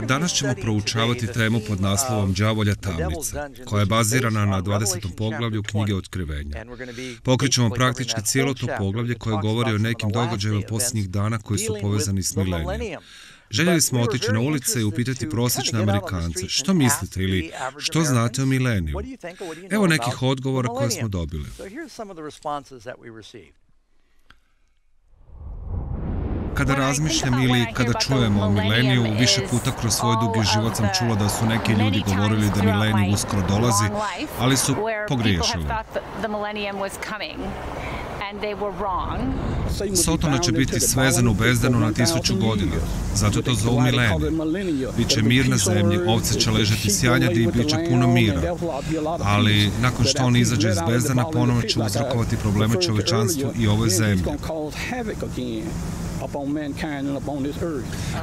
Danas ćemo proučavati temu pod naslovom Đavolja tamnica, koja je bazirana na 20. poglavlju knjige Otkrivenja. Pokrićemo praktički cijelo to poglavlje koje govori o nekim događajima posljednjih dana koji su povezani s milenijom. Željeli smo otići na ulice i upitati prosječne Amerikance što mislite ili što znate o mileniju. Evo nekih odgovora koje smo dobili. Kada razmišljam ili kada čujemo o mileniju, više puta kroz svoj dugi život sam čula da su neki ljudi govorili da milenij uskoro dolazi, ali su pogriješili. Sotona će biti svezan u bezdanu na 1000 godina, zato to zovu milenij. Biće mir na zemlji, ovce će ležati sjajnjadi i bit će puno mira. Ali nakon što on izađe iz bezdana, ponovno će uzrokovati probleme čovječanstvu i ovoj zemlji.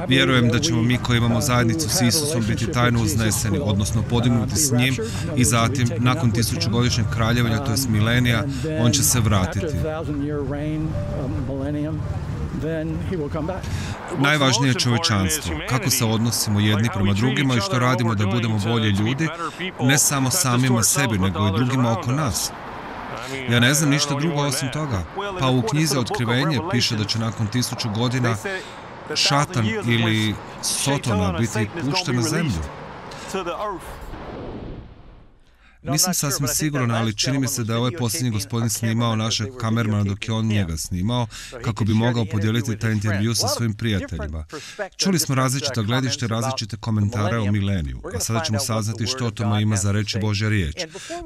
Vjerujem da ćemo mi koji imamo zajednicu s Isusom biti tajno uzneseni, odnosno podignuti s njim i zatim, nakon 1000-godišnjeg kraljevanja, to jest milenija, on će se vratiti. Najvažnije je čovječanstvo, kako se odnosimo jedni prema drugima i što radimo da budemo bolji ljudi, ne samo samima sebi, nego i drugima oko nas. Ja ne znam ništa drugo osim toga. Pa u knjizi Otkrivenje piše da će nakon 1000 godina šatan ili Sotona biti pušten na zemlju. Nisam sasvim siguran, ali čini mi se da je ovaj posljednji gospodin snimao našeg kamermana dok je on njega snimao, kako bi mogao podijeliti taj intervju sa svojim prijateljima. Čuli smo različita gledište, različite komentare o mileniju, a sada ćemo saznati što o tome ima za reći Božja riječ.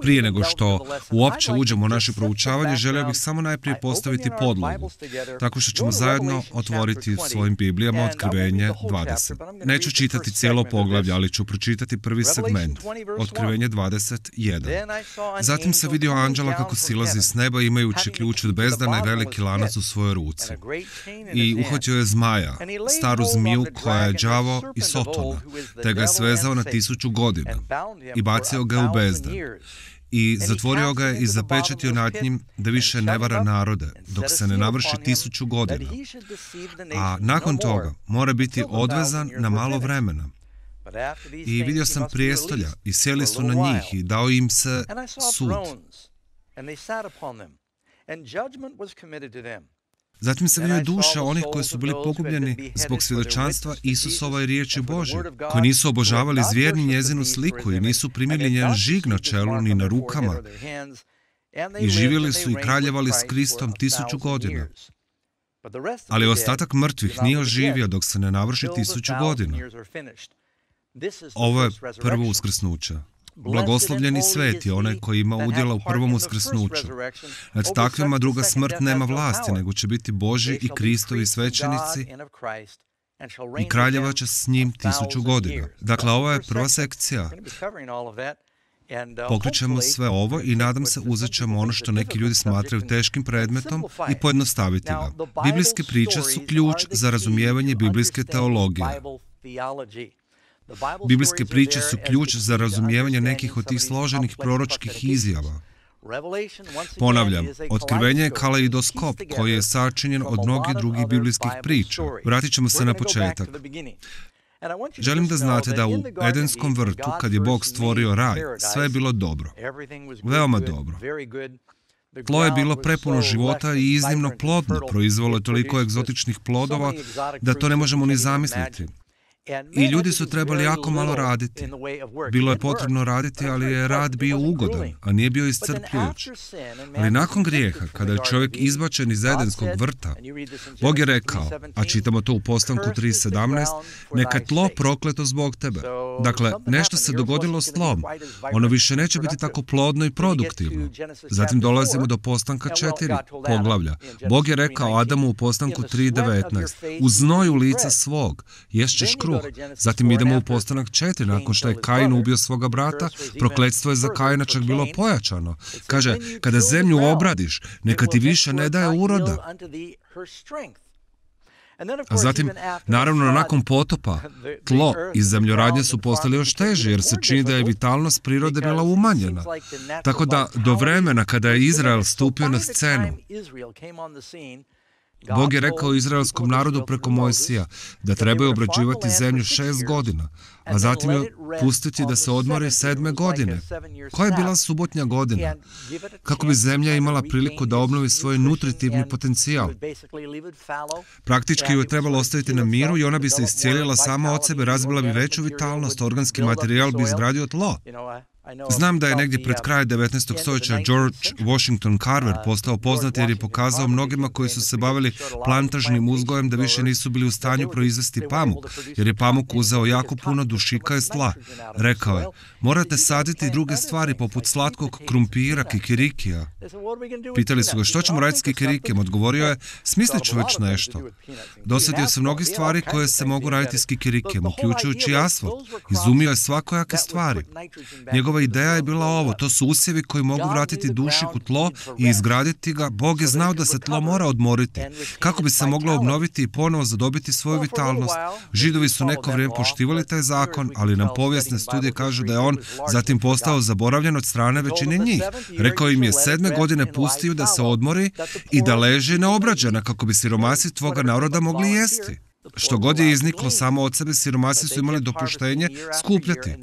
Prije nego što uopće uđemo u naše proučavanje, želio bih samo najprije postaviti podlogu, tako što ćemo zajedno otvoriti svojim Biblijama Otkrivenje 20. Neću čitati cijelo poglavlje, ali ću pročitati prvi segment, Otkrivenje 21. Zatim se vidio anđela kako silazi s neba imajući ključ od bezdana i veliki lanac u svojoj ruci. I uhvatio je zmaja, staru zmiju koja je đavo i Sotona, te ga je svezao na 1000 godina i bacio ga u bezdan. I zatvorio ga je i zapečatio nad njim da više ne vara narode, dok se ne navrši 1000 godina. A nakon toga mora biti odvezan na malo vremena. I vidio sam prijestolja i sjeli su na njih i dao im se sud. Zatim se vidio duše onih koji su bili pogubljeni zbog svjedočanstva Isusova i riječi Božje, koji nisu obožavali zvijer ni njezinu sliku i nisu primili njen žig na čelu ni na rukama. I živjeli su i kraljevali s Kristom 1000 godina. Ali ostatak mrtvih nije oživio dok se ne navrši 1000 godina. Ovo je prvo uskrsnuće. Blagoslovljeni sveti, onaj koji ima udjela u prvom uskrsnuću. Nad takvima druga smrt nema vlasti, nego će biti Božji i Kristovi svećenici i kraljeva će s njim 1000 godina. Dakle, ovo je prva sekcija. Pokrićemo sve ovo i nadam se uzet ćemo ono što neki ljudi smatraju teškim predmetom i pojednostaviti ga. Biblijske priče su ključ za razumijevanje biblijske teologije. Biblijske priče su ključ za razumijevanje nekih od tih složenih proročkih izjava. Ponavljam, Otkrivenje je kaleidoskop koji je sačinjen od mnogih drugih biblijskih priča. Vratit ćemo se na početak. Želim da znate da u Edenskom vrtu, kad je Bog stvorio raj, sve je bilo dobro. Veoma dobro. Tlo je bilo prepuno života i iznimno plodno, proizvelo je toliko egzotičnih plodova da to ne možemo ni zamisliti. I ljudi su trebali jako malo raditi. Bilo je potrebno raditi, ali je rad bio ugodan, a nije bio iscrpljujuć. Ali nakon grijeha, kada je čovjek izbačen iz Edenskog vrta, Bog je rekao, a čitamo to u Postanku 3.17, neka je tlo prokleto zbog tebe. Dakle, nešto se dogodilo s tlom. Ono više neće biti tako plodno i produktivno. Zatim dolazimo do Postanka 4 poglavlja. Bog je rekao Adamu u Postanku 3.19, u znoju lica svog ješćeš kruh. Zatim idemo u Postanak 4, nakon što je Kain ubio svoga brata, prokletstvo je za Kaina čak bilo pojačano. Kaže, kada zemlju obradiš, neka ti više ne daje uroda. A zatim, naravno, nakon potopa, tlo i zemljoradnje su postali još teže, jer se čini da je vitalnost prirode bila umanjena. Tako da, do vremena kada je Izrael stupio na scenu, Bog je rekao izraelskom narodu preko Mojsija da trebaju obrađivati zemlju 6 godina, a zatim je pustiti da se odmori 7. godine. Koja je bila subotnja godina? Kako bi zemlja imala priliku da obnovi svoj nutritivni potencijal. Praktički ju je trebalo ostaviti na miru i ona bi se iscijelila sama od sebe, razvila bi veću vitalnost, organski materijal bi izgradio tlo. Znam da je negdje pred kraj 19. stoljeća George Washington Carver postao poznat jer je pokazao mnogima koji su se bavili plantažnim uzgojem da više nisu bili u stanju proizvesti pamuk, jer je pamuk uzeo jako puno dušika iz tla. Rekao je, morate saditi druge stvari poput slatkog krumpira, kikirikija. Pitali su ga, što ćemo raditi s kikirikijem? Odgovorio je, smislit ću već nešto. Dosjetio se mnogi stvari koje se mogu raditi s kikirikijem, uključujući asfalt. Izumio je svakojake stvari. Njegova ideja je bila ovo, to su usjevi koji mogu vratiti dušik u tlo i izgraditi ga. Bog je znao da se tlo mora odmoriti, kako bi se moglo obnoviti i ponovo zadobiti svoju vitalnost. Židovi su neko vrijeme poštivali taj zakon, ali nam povijesne studije kažu da je on zatim postao zaboravljen od strane većine njih. Rekao im je 7. godine pustiju da se odmori i da leže neobrađena kako bi siromasi tvoga naroda mogli jesti. Što god je izniklo samo od sebe, siromasi su imali dopuštenje skupljati.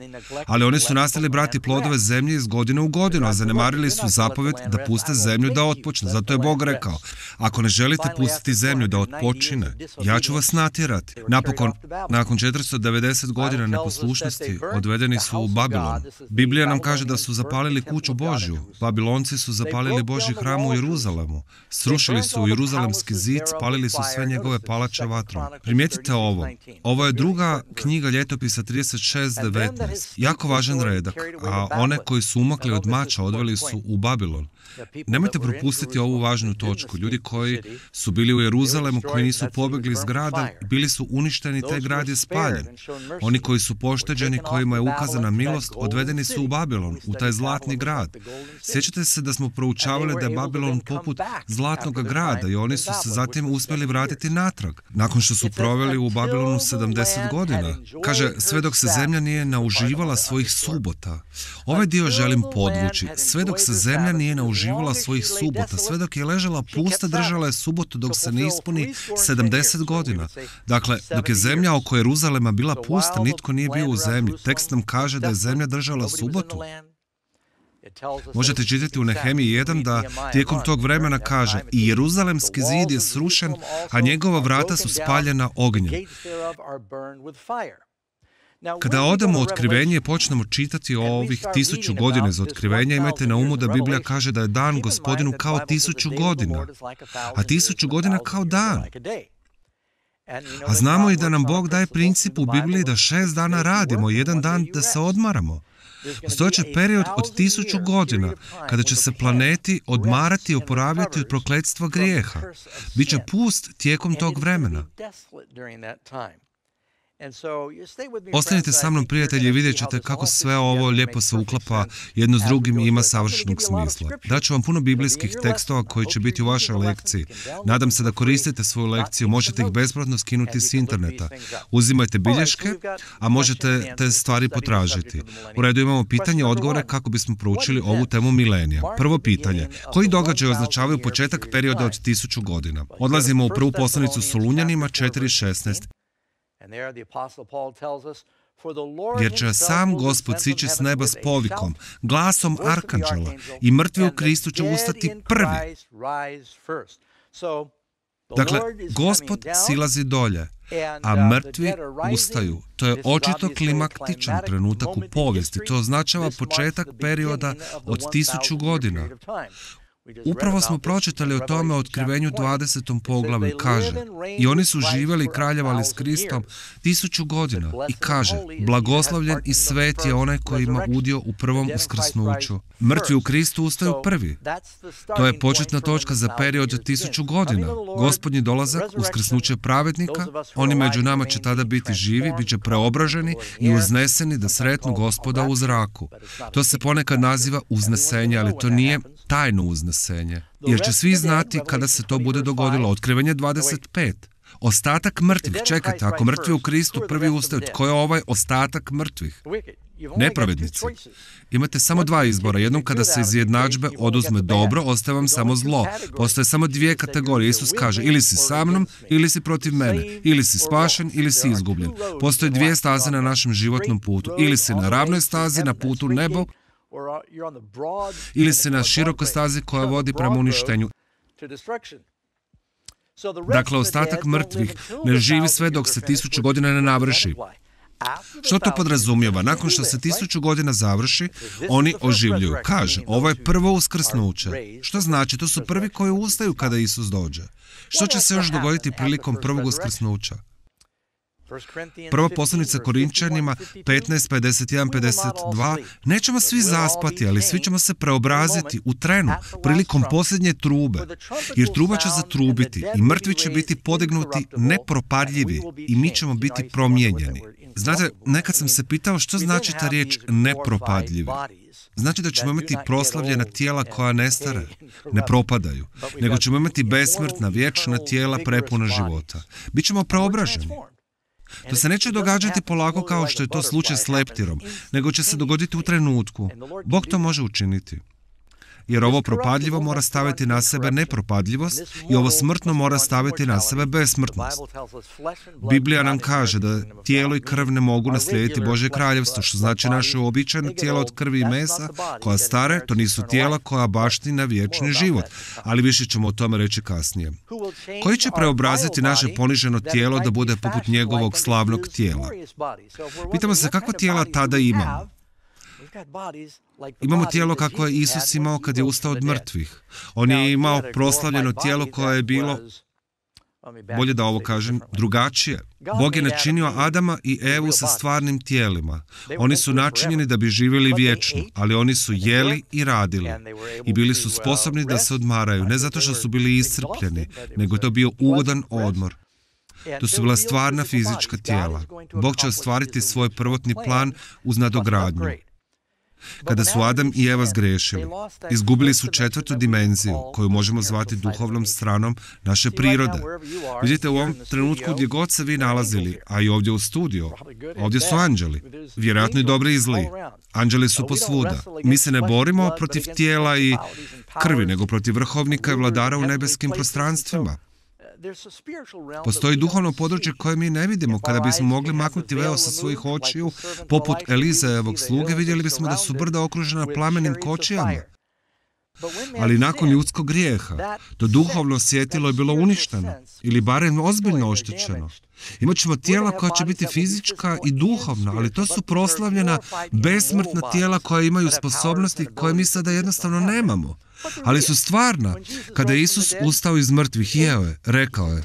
Ali oni su nastavili brati plodove zemlje iz godine u godinu, a zanemarili su zapovjed da puste zemlju da otpočne. Zato je Bog rekao, ako ne želite pustiti zemlju da otpočine, ja ću vas natjerati. Napokon, nakon 490 godina neposlušnosti, odvedeni su u Babilon. Biblija nam kaže da su zapalili kuću Božju. Babilonci su zapalili Božji hram u Jeruzalemu. Srušili su Jeruzalemski zid, spalili su sve njegove palače vatrom. Primijetite ovo. Ovo je druga knjiga ljetopisa 36:19. Jako važan redak, a one koji su umakli od mača odveli su u Babilon. Nemojte propustiti ovu važnu točku. Ljudi koji su bili u Jeruzalemu, koji nisu pobjegli iz grada, bili su uništeni, taj grad je spaljen. Oni koji su pošteđeni, kojima je ukazana milost, odvedeni su u Babilon, u taj zlatni grad. Sjećate se da smo proučavali da je Babilon poput zlatnog grada i oni su se zatim uspjeli vratiti natrag, nakon što su proveli u Babilonu 70 godina. Kaže, sve dok se zemlja nije nauživala svojih subota. Ovaj dio želim podvući. Sve dok se zemlja nije nauživala svojih subota, sve dok je ležala pusta, držala je subotu dok se ne ispuni 70 godina. Dakle, dok je zemlja oko Jeruzalema bila pusta, nitko nije bio u zemlji. Tekst nam kaže da je zemlja držala subotu. Možete čitati u Nehemiji 1 da tijekom tog vremena kaže i Jeruzalemski zid je srušen, a njegova vrata su spaljena ognjem. Kada odemo u Otkrivenje i počnemo čitati o ovih 1000 godina iz Otkrivenja, imajte na umu da Biblija kaže da je dan Gospodinu kao 1000 godina, a 1000 godina kao dan. A znamo i da nam Bog daje princip u Bibliji da 6 dana radimo, 1 dan da se odmaramo. Postojeće period od 1000 godina, kada će se planeti odmarati i oporavljati od prokletstva grijeha. Biće pust tijekom tog vremena. Ostanite sa mnom, prijatelji, i vidjet ćete kako sve ovo lijepo se uklapa jedno s drugim i ima savršenog smisla. Daću vam puno biblijskih tekstova koji će biti u vašoj lekciji. Nadam se da koristite svoju lekciju, možete ih besplatno skinuti s interneta. Uzimajte bilješke, a možete te stvari potražiti. U redu, imamo pitanje, odgovore kako bismo proučili ovu temu milenija. Prvo pitanje, koji događaj označavaju početak perioda od 1000 godina? Odlazimo u prvu poslanicu Solunjanima 4:16. Jer će sam Gospod sići s neba s povikom, glasom arkanđela, i mrtvi u Kristu će ustati prvi. Dakle, Gospod silazi dolje, a mrtvi ustaju. To je očito klimaktičan trenutak u povijesti. To označava početak perioda od 1000 godina. Upravo smo pročitali o tome u Otkrivenju 20. poglavlju. Kaže, i oni su živjeli i kraljevali s Kristom 1000 godina. I kaže, blagoslovljen i svet je onaj koji ima udio u prvom uskrsnuću. Mrtvi u Kristu ustaju prvi. To je početna točka za period od 1000 godina. Gospodnji dolazak, uskrsnuće pravednika, oni među nama će tada biti živi, bit će preobraženi i uzneseni da sretnu Gospoda u zraku. To se ponekad naziva uznesenje, ali to nije tajno uznesenje. Jer će svi znati kada se to bude dogodilo. Otkrivenje 25. Ostatak mrtvih, čekajte, ako mrtvi u Kristu prvi ustaju, tko je ovaj ostatak mrtvih? Nepravednici. Imate samo dva izbora. Jednom kada se iz jednadžbe oduzme dobro, ostaje vam samo zlo. Postoje samo dvije kategorije. Isus kaže, ili si sa mnom, ili si protiv mene. Ili si spašen, ili si izgubljen. Postoje dvije staze na našem životnom putu. Ili si na ravnoj stazi, na putu nebo, ili si na širokoj stazi koja vodi prema uništenju. Dakle, ostatak mrtvih ne živi sve dok se 1000 godina ne navrši. Što to podrazumijeva? Nakon što se 1000 godina završi, oni oživljuju. Kaže, ovo je prvo uskrsnuće. Što znači? To su prvi koji ustaju kada Isus dođe. Što će se još dogoditi prilikom prvog uskrsnuća? Prva poslanica Korinčanima 15, 51, 52. Nećemo svi zaspati, ali svi ćemo se preobraziti u trenu, prilikom posljednje trube. Jer truba će zatrubiti i mrtvi će biti podignuti nepropadljivi i mi ćemo biti promijenjeni. Znate, nekad sam se pitao što znači ta riječ nepropadljivi. Znači da ćemo imati proslavljena tijela koja ne stare, ne propadaju, nego ćemo imati besmrtna, vječna tijela prepuna života. Bićemo preobraženi. To se neće događati polako kao što je to slučaj s leptirom, nego će se dogoditi u trenutku. Bog to može učiniti. Jer ovo propadljivo mora staviti na sebe nepropadljivost i ovo smrtno mora staviti na sebe besmrtnost. Biblija nam kaže da tijelo i krv ne mogu naslijediti Božje kraljevstvo, što znači naše uobičajeno tijelo od krvi i mesa, koja stare, to nisu tijela koja baština vječni život. Ali više ćemo o tome reći kasnije. Koji će preobraziti naše poniženo tijelo da bude poput njegovog slavnog tijela? Pitamo se kakva tijela tada imamo. Imamo tijelo kakvo je Isus imao kad je ustao od mrtvih. On je imao proslavljeno tijelo koje je bilo, bolje da ovo kažem, drugačije. Bog je načinio Adama i Evu sa stvarnim tijelima. Oni su načinjeni da bi živjeli vječno, ali oni su jeli i radili. I bili su sposobni da se odmaraju, ne zato što su bili iscrpljeni, nego je to bio ugodan odmor. To su bila stvarna fizička tijela. Bog će ostvariti svoj prvotni plan uz nadogradnju. Kada su Adam i Eva zgrešili, izgubili su 4. dimenziju, koju možemo zvati duhovnom stranom naše prirode. Vidite, u ovom trenutku gdje god se vi nalazili, a i ovdje u studiju, ovdje su anđeli, vjerojatno i dobri i zli. Anđeli su posvuda. Mi se ne borimo protiv tijela i krvi, nego protiv vrhovnika i vladara u nebeskim prostranstvima. Postoji duhovno područje koje mi ne vidimo. Kada bismo mogli maknuti veo sa svojih očiju, poput Elizejevog sluge, vidjeli bismo da su brda okružena plamenim kočijama. Ali nakon ljudskog grijeha, to duhovno svjetilo je bilo uništeno, ili barem ozbiljno oštećeno. Imat ćemo tijela koja će biti fizička i duhovna, ali to su proslavljena, besmrtna tijela koja imaju sposobnosti koje mi sada jednostavno nemamo. Ali su stvarna. Kada je Isus ustao iz mrtvih, jeo je, rekao je,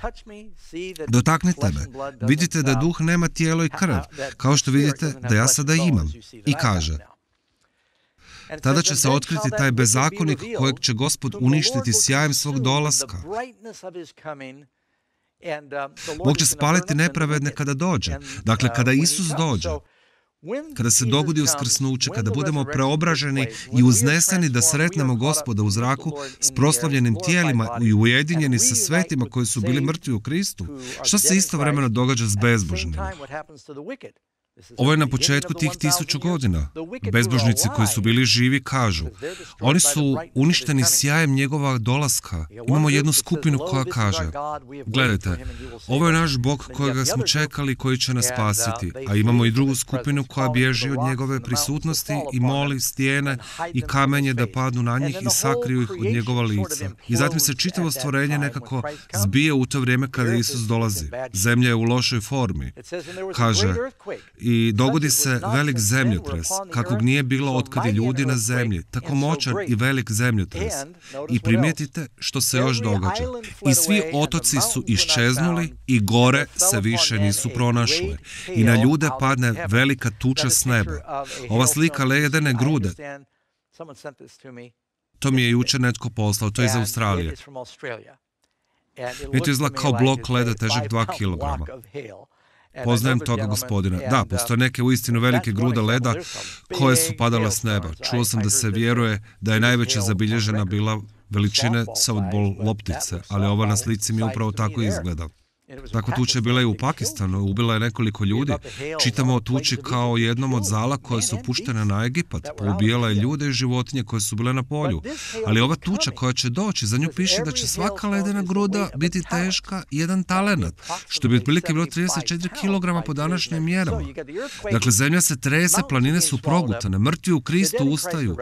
dotaknite me, vidite da duh nema tijelo i krv, kao što vidite da ja sada imam. I kaže, tada će se otkriti taj bezakonik kojeg će Gospod uništiti sjajem svog dolaska. Bog će spaliti nepravedne kada dođe. Dakle, kada Isus dođe, kada se dogodi uskrsnuće, kada budemo preobraženi i uzneseni da sretnemo Gospoda u zraku s proslavljenim tijelima i ujedinjeni sa svetima koji su bili mrtvi u Kristu, što se istovremeno događa s bezbožnima? Ovo je na početku tih 1000 godina. Bezbožnici koji su bili živi kažu, oni su uništeni sjajem njegova dolaska. Imamo jednu skupinu koja kaže, gledajte, ovo je naš Bog kojega smo čekali, koji će nas spasiti. A imamo i drugu skupinu koja bježi od njegove prisutnosti i moli stijene i kamenje da padnu na njih i sakriju ih od njegova lica. I zatim se čitavo stvorenje nekako zbije u to vrijeme kada Isus dolazi. Zemlja je u lošoj formi. Kaže, i dogodi se velik zemljotres, kakvog nije bilo otkad je ljudi na zemlji, tako moćan i velik zemljotres. I primijetite što se još događa. I svi otoci su iščeznuli i gore se više nisu pronašle. I na ljude padne velika tuča s neba. Ova slika ledene grude, to mi je jučer netko poslao, to je iz Australije. I to izgleda kao blok leda težak 2 kilograma. Poznajem toga gospodina. Da, postoje neke uistinu velike grude leda koje su padale s neba. Čuo sam da se vjeruje da je najveća zabilježena bila veličine softball loptice, ali ova na slici mi upravo tako izgleda. Takva tuča je bila i u Pakistanu, ubila je nekoliko ljudi. Čitamo o tuči kao jednom od zala koje su puštene na Egipat, poubijala je ljude i životinje koje su bile na polju. Ali ova tuča koja će doći, za nju piše da će svaka ledena gruda biti teška 1 talenat, što bi otprilike bilo 34 kg po današnjim mjerama. Dakle, zemlja se trese, planine su progutane, mrtvi u Kristu ustaju.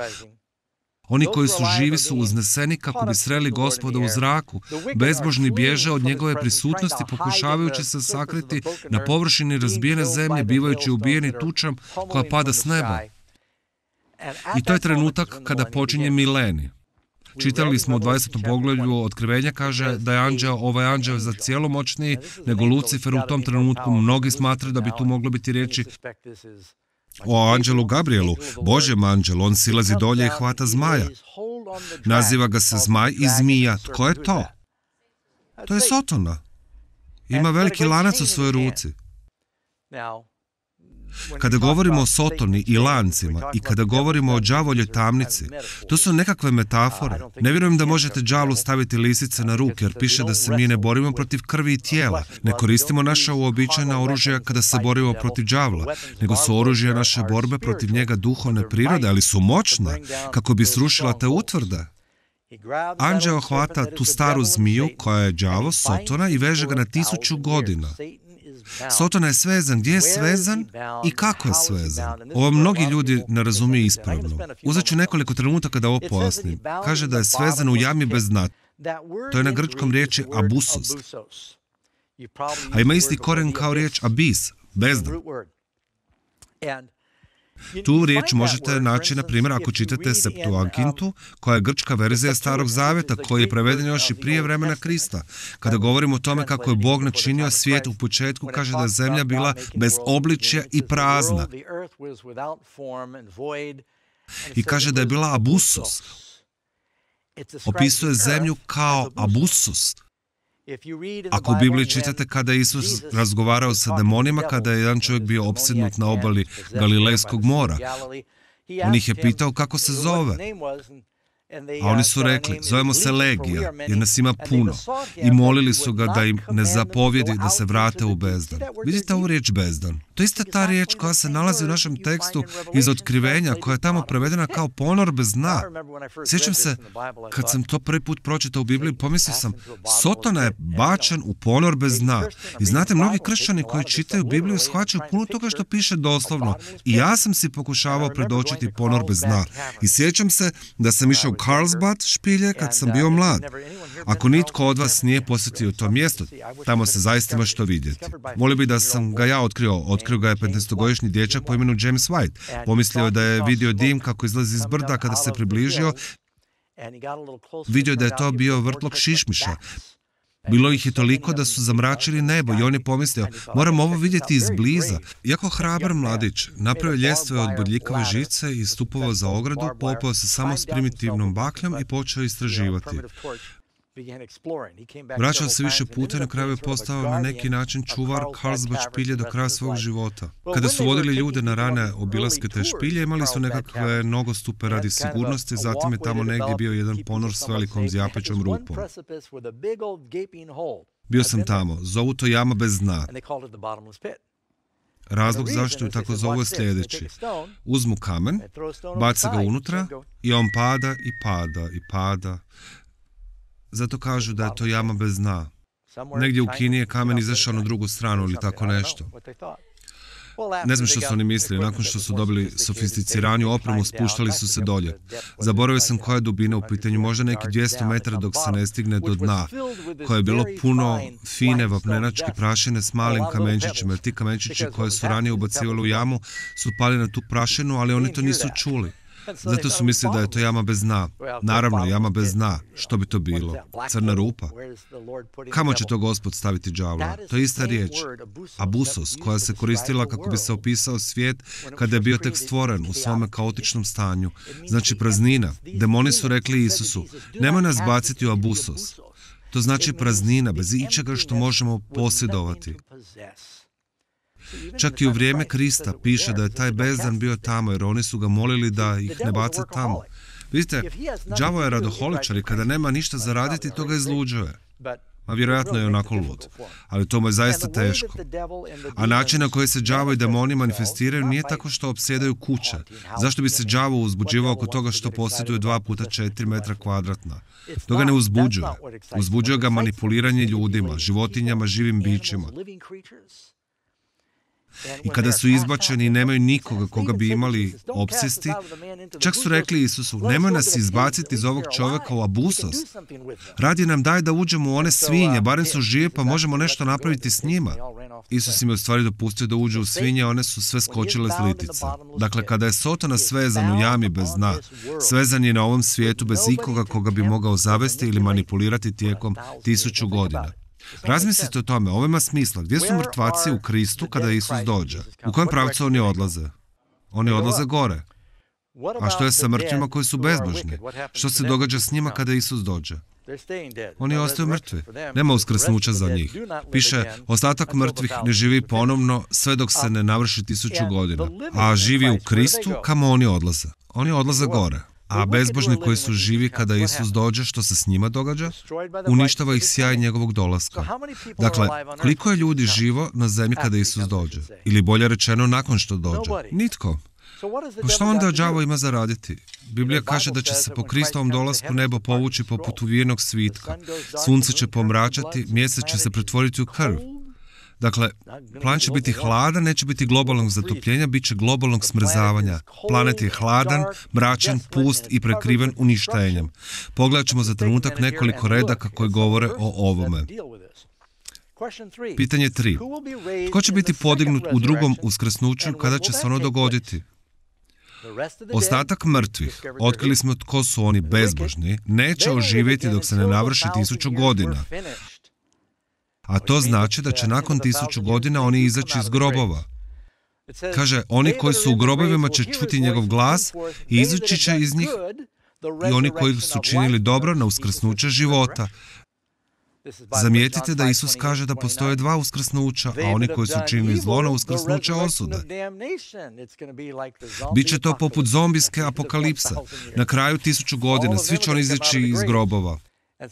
Oni koji su živi su uzneseni kako bi sreli Gospoda u zraku. Bezbožni bježe od njegove prisutnosti pokušavajući se sakriti na površini razbijene zemlje, bivajući ubijeni tučom koja pada s neba. I to je trenutak kada počinje milenij. Čitali smo u 20. poglavlju Otkrivenja, kaže da je ovaj anđeo za cijelo moćniji nego Lucifer u tom trenutku. Mnogi smatraju da bi tu moglo biti riječi o anđelu Gabrielu, Božjem anđelu. On silazi dolje i hvata zmaja. Naziva ga se zmaj i zmija. Tko je to? To je Sotona. Ima veliki lanac u svojoj ruci. Kada govorimo o Sotoni i lancima i kada govorimo o đavoljoj tamnici, to su nekakve metafore. Ne vjerujem da možete đavlu staviti lisice na ruke, jer piše da se mi ne borimo protiv krvi i tijela. Ne koristimo naša uobičajena oružja kada se borimo protiv đavla, nego su oružja naše borbe protiv njega duhovne prirode, ali su moćna kako bi srušila te utvrde. Anđeo hvata tu staru zmiju koja je đavo, Sotona, i veže ga na 1000 godina. Sotona je svezan. Gdje je svezan i kako je svezan? Ovo mnogi ljudi ne razumiju ispravno. Uzet ću nekoliko trenutaka da ovo pojasnim. Kaže da je svezan u jami bez dna. To je na grčkom riječi abusos. A ima isti koren kao riječ abis, bezdan. Tu riječ možete naći, na primjer, ako čitate Septuagintu, koja je grčka verzija Starog Zavjeta, koji je preveden još i prije vremena Krista. Kada govorimo o tome kako je Bog načinio svijet u početku, kaže da je zemlja bila bez obličja i prazna. I kaže da je bila abusos. Opisuje zemlju kao abusos. Ako u Bibliji čitate kada je Isus razgovarao sa demonima, kada je jedan čovjek bio opsjednut na obali Galilejskog mora, on ih je pitao kako se zove. A oni su rekli, zovemo se Legija, jer nas ima puno. I molili su ga da im ne zapovjedi da se vrate u bezdan. Vidite ovu riječ bezdan? To je ista ta riječ koja se nalazi u našem tekstu iz Otkrivenja, koja je tamo prevedena kao ponor bez dna. Sjećam se, kad sam to prvi put pročitao u Bibliji, pomislio sam, Sotona je bačen u ponor bez dna. I znate, mnogi kršćani koji čitaju Bibliju shvaćaju puno toga što piše doslovno. I ja sam si pokušavao predočiti ponor bez dna. I sjećam se da sam išao u Carlsbad špilje kad sam bio mlad. Ako nitko od vas nije posjetio to mjesto, tamo se zaista ima što vidjeti. Volio bi da sam ga ja otkrio ga je 15-godišnji dječak po imenu James White. Pomislio je da je vidio dim kako izlazi iz brda. Kada se približio, vidio da je to bio vrtlog šišmiša. Bilo ih je toliko da su zamračili nebo i on je pomislio, moram ovo vidjeti izbliza. Iako hrabar mladić, napravio ljestve od bodljikave žice i stupovao za ogradu, popeo se samo s primitivnom bakljom i počeo istraživati. Vraćao se više puta i na kraju je postao na neki način čuvar Carlsbad špilje do kraja svog života. Kada su vodili ljude na rane obilaske te špilje, imali su nekakve nogostupe radi sigurnosti, zatim je tamo negdje bio jedan ponor s velikom zjapećom rupom. Bio sam tamo, zovu to jama bez dna. Razlog zašto ju tako zovu je sljedeći. Uzmu kamen, bace ga unutra i on pada i pada i pada. Zato kažu da je to jama bez dna. Negdje u Kini je kamen izašao na drugu stranu ili tako nešto. Ne znam što su oni mislili. Nakon što su dobili sofisticiraniju opremu, spuštali su se dolje. Zaboravio sam koja je dubina u pitanju, možda neki 200 metara dok se ne stigne do dna, koje je bilo puno fine vapnenačke prašine s malim kamenčićima. Ti kamenčići koje su ranije ubacivali u jamu su pali na tu prašinu, ali oni to nisu čuli. Zato su mislili da je to jama bez dna. Naravno, jama bez dna. Što bi to bilo? Crna rupa? Kamo će to Gospod staviti đavla? To je ista riječ. Abusos, koja se koristila kako bi se opisao svijet kada je bio tek stvoren u svome kaotičnom stanju. Znači praznina. Demoni su rekli Isusu, nemoj nas baciti u abusos. To znači praznina, bez ičega što možemo posjedovati. Čak i u vrijeme Krista piše da je taj bezdan bio tamo, jer oni su ga molili da ih ne bace tamo. Vidite, đavo je radoholičar i kada nema ništa za raditi, to ga izluđuje. A vjerojatno je onako lud. Ali to mu je zaista teško. A način na koji se đavo i demoni manifestiraju nije tako što opsjedaju kuće. Zašto bi se đavo uzbuđivao oko toga što posjeduje 2x4 metra kvadratna? To ga ne uzbuđuje. Uzbuđuje ga manipuliranje ljudima, životinjama, živim bićima. I kada su izbačeni i nemaju nikoga koga bi imali opsjesti, čak su rekli Isusu, nemoj nas izbaciti iz ovog čovjeka u abusos. Radije nam daj da uđemo u one svinje, barem su žive pa možemo nešto napraviti s njima. Isus im je u stvari dopustio da uđu u svinje, one su sve skočile s litica. Dakle, kada je Sotona svezan u jami bez dna, svezan je na ovom svijetu bez ikoga koga bi mogao zavesti ili manipulirati tijekom 1000 godina. Razmislite o tome, ovo ima smisla. Gdje su mrtvaci u Kristu kada Isus dođe? U kojem pravcu oni odlaze? Oni odlaze gore. A što je sa mrtvima koji su bezbožni? Što se događa s njima kada Isus dođe? Oni ostaju mrtvi. Nema uskrsnuća za njih. Piše, ostatak mrtvih ne živi ponovno sve dok se ne navrši 1000 godina. A živi u Kristu, kamo oni odlaze? Oni odlaze gore. A bezbožni koji su živi kada Isus dođe, što se s njima događa? Uništava ih sjaj njegovog dolaska. Dakle, koliko je ljudi živo na zemlji kada Isus dođe? Ili bolje rečeno, nakon što dođe? Nitko. Pa što onda đavo ima za raditi? Biblija kaže da će se po Kristovom dolasku nebo povući poput uvijenog svitka. Sunce će pomračati, mjesec će se pretvoriti u krv. Dakle, plan će biti hladan, neće biti globalnog zatopljenja, bit će globalnog smrzavanja. Planet je hladan, mračan, pust i prekriven uništenjem. Pogledat ćemo za trenutak nekoliko redaka koji govore o ovome. Pitanje 3. Tko će biti podignut u drugom uskrsnuću kada će se ono dogoditi? Ostatak mrtvih, otkrili smo tko su oni bezbožni, neće oživjeti dok se ne navrši 1000 godina. A to znači da će nakon 1000 godina oni izaći iz grobova. Kaže, oni koji su u grobovima će čuti njegov glas i izaći će iz njih i oni koji su činili dobro na uskrsnuće života. Zamijetite da Isus kaže da postoje 2 uskrsnuća, a oni koji su činili zlo na uskrsnuće osude. Biće to poput zombijske apokalipse. Na kraju 1000 godina svi će oni izaći iz grobova.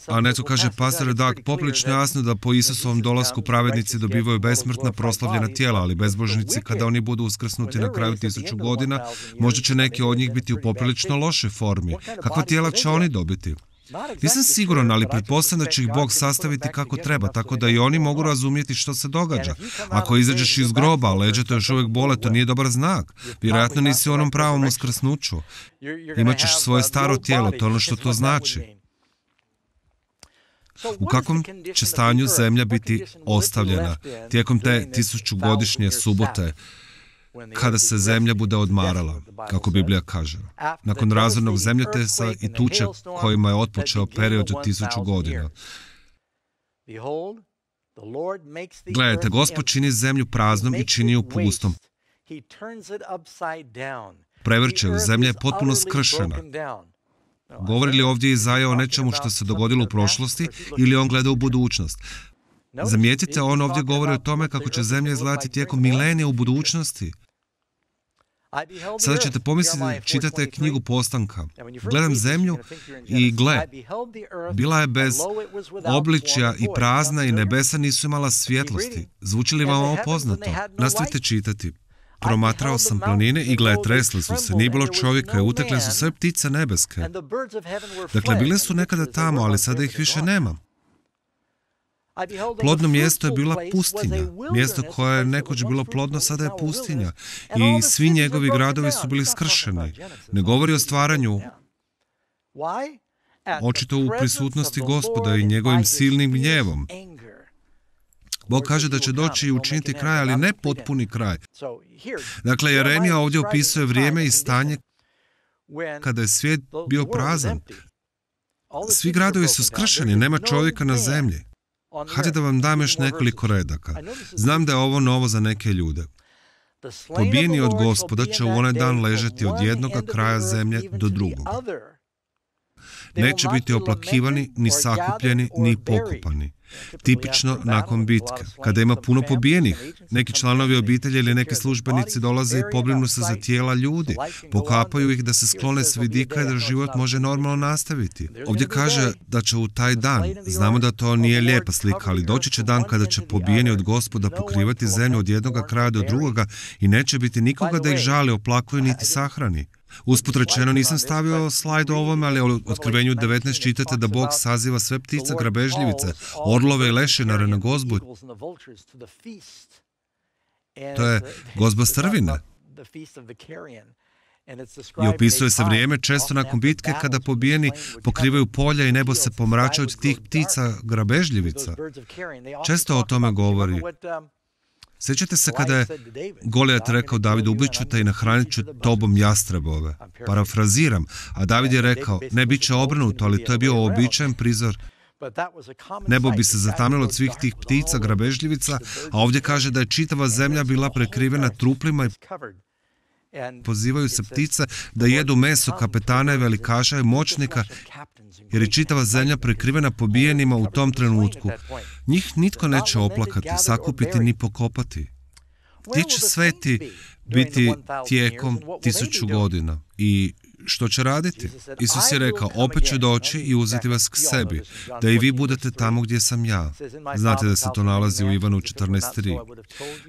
A netko kaže, pastor Dak, poprilično jasno da po Isusovom dolasku pravednici dobivaju besmrtna proslavljena tijela, ali bezbožnici kada oni budu uskrsnuti na kraju 1000 godina, možda će neki od njih biti u poprilično lošoj formi. Kakva tijela će oni dobiti? Nisam siguran, ali pretpostavljam da će ih Bog sastaviti kako treba, tako da i oni mogu razumjeti što se događa. Ako izađeš iz groba, a leđa te još uvijek bole, to nije dobar znak. Vjerojatno nisi u onom pravom uskrsnuću. Imaćeš svoje staro tijelo, to je ono što to znači. U kakvom će stanju zemlja biti ostavljena tijekom te 1000-godišnje subote, kada se zemlja bude odmarala, kako Biblija kaže, nakon razornog zemljotresa i tuče kojima je otpočeo period od 1000 godina. Gledajte, Gospod čini zemlju praznom i čini ju pustom. Prevrće, zemlja je potpuno skršena. Govori li ovdje Izaja o nečemu što se dogodilo u prošlosti ili on gleda u budućnost? Zamijetite, on ovdje govori o tome kako će zemlja izgledati tijekom milenija u budućnosti. Sada ćete pomisliti, čitate knjigu Postanka. Gledam zemlju i gle, bila je bez obličja i prazna i nebesa nisu imala svjetlosti. Zvuči li vam ovo poznato? Nastavite čitati. Promatrao sam planine i gle, tresli su se, nije bilo čovjeka i utekle su sve ptice nebeske. Dakle, bile su nekada tamo, ali sada ih više nema. Plodno mjesto je bila pustinja. Mjesto koje je nekoć bilo plodno, sada je pustinja. I svi njegovi gradovi su bili skršeni. Ne govori o stvaranju. Očito u prisutnosti Gospoda i njegovim silnim gnjevom. Bog kaže da će doći i učiniti kraj, ali ne potpuni kraj. Dakle, Jeremija ovdje opisuje vrijeme i stanje kada je svijet bio prazan. Svi gradovi su skršeni, nema čovjeka na zemlji. Hajde da vam dam još nekoliko redaka. Znam da je ovo novo za neke ljude. Pobijeni od Gospoda će u onaj dan ležati od jednoga kraja zemlje do drugog. Neće biti oplakivani, ni sakupljeni, ni pokopani. Tipično nakon bitke, kada ima puno pobijenih, neki članovi obitelji ili neki službenici dolaze i pobrinu se za tijela ljudi, pokapaju ih da se sklone s vidika i da život može normalno nastaviti. Ovdje kaže da će u taj dan, znamo da to nije lijepa slika, ali doći će dan kada će pobijeni od Gospoda pokrivati zemlju od jednoga kraja do drugoga i neće biti nikoga da ih žali, oplakuje niti sahrani. Usput rečeno, nisam stavio slajd o ovome, ali u Otkrivenju 19 čitate da Bog saziva sve ptice grabežljivice, orlove i lešinare na gozbu. To je gozba strvine. I opisuje se vrijeme često nakon bitke kada pobijeni pokrivaju polja i nebo se pomrača od tih ptica grabežljivica. Često o tome govori. Sjećate se kada je Golijat rekao Davidu, ubit ću te i nahranit ću tobom jastrebove. Parafraziram, a David je rekao, ne, bit će obrnuto, ali to je bio uobičajen prizor. Nebo bi se zatamnilo od svih tih ptica, grabežljivica, a ovdje kaže da je čitava zemlja bila prekrivena truplima i pozivaju se ptice da jedu meso kapetana i velikaša i moćnika, jer je čitava zemlja prekrivena pobijenima u tom trenutku. Njih nitko neće oplakati, sakupiti ni pokopati. Gdje će sveti biti tijekom 1000 godina? I što će raditi? Isus je rekao, opet ću doći i uzeti vas k sebi, da i vi budete tamo gdje sam ja. Znate da se to nalazi u Ivanu 14.3.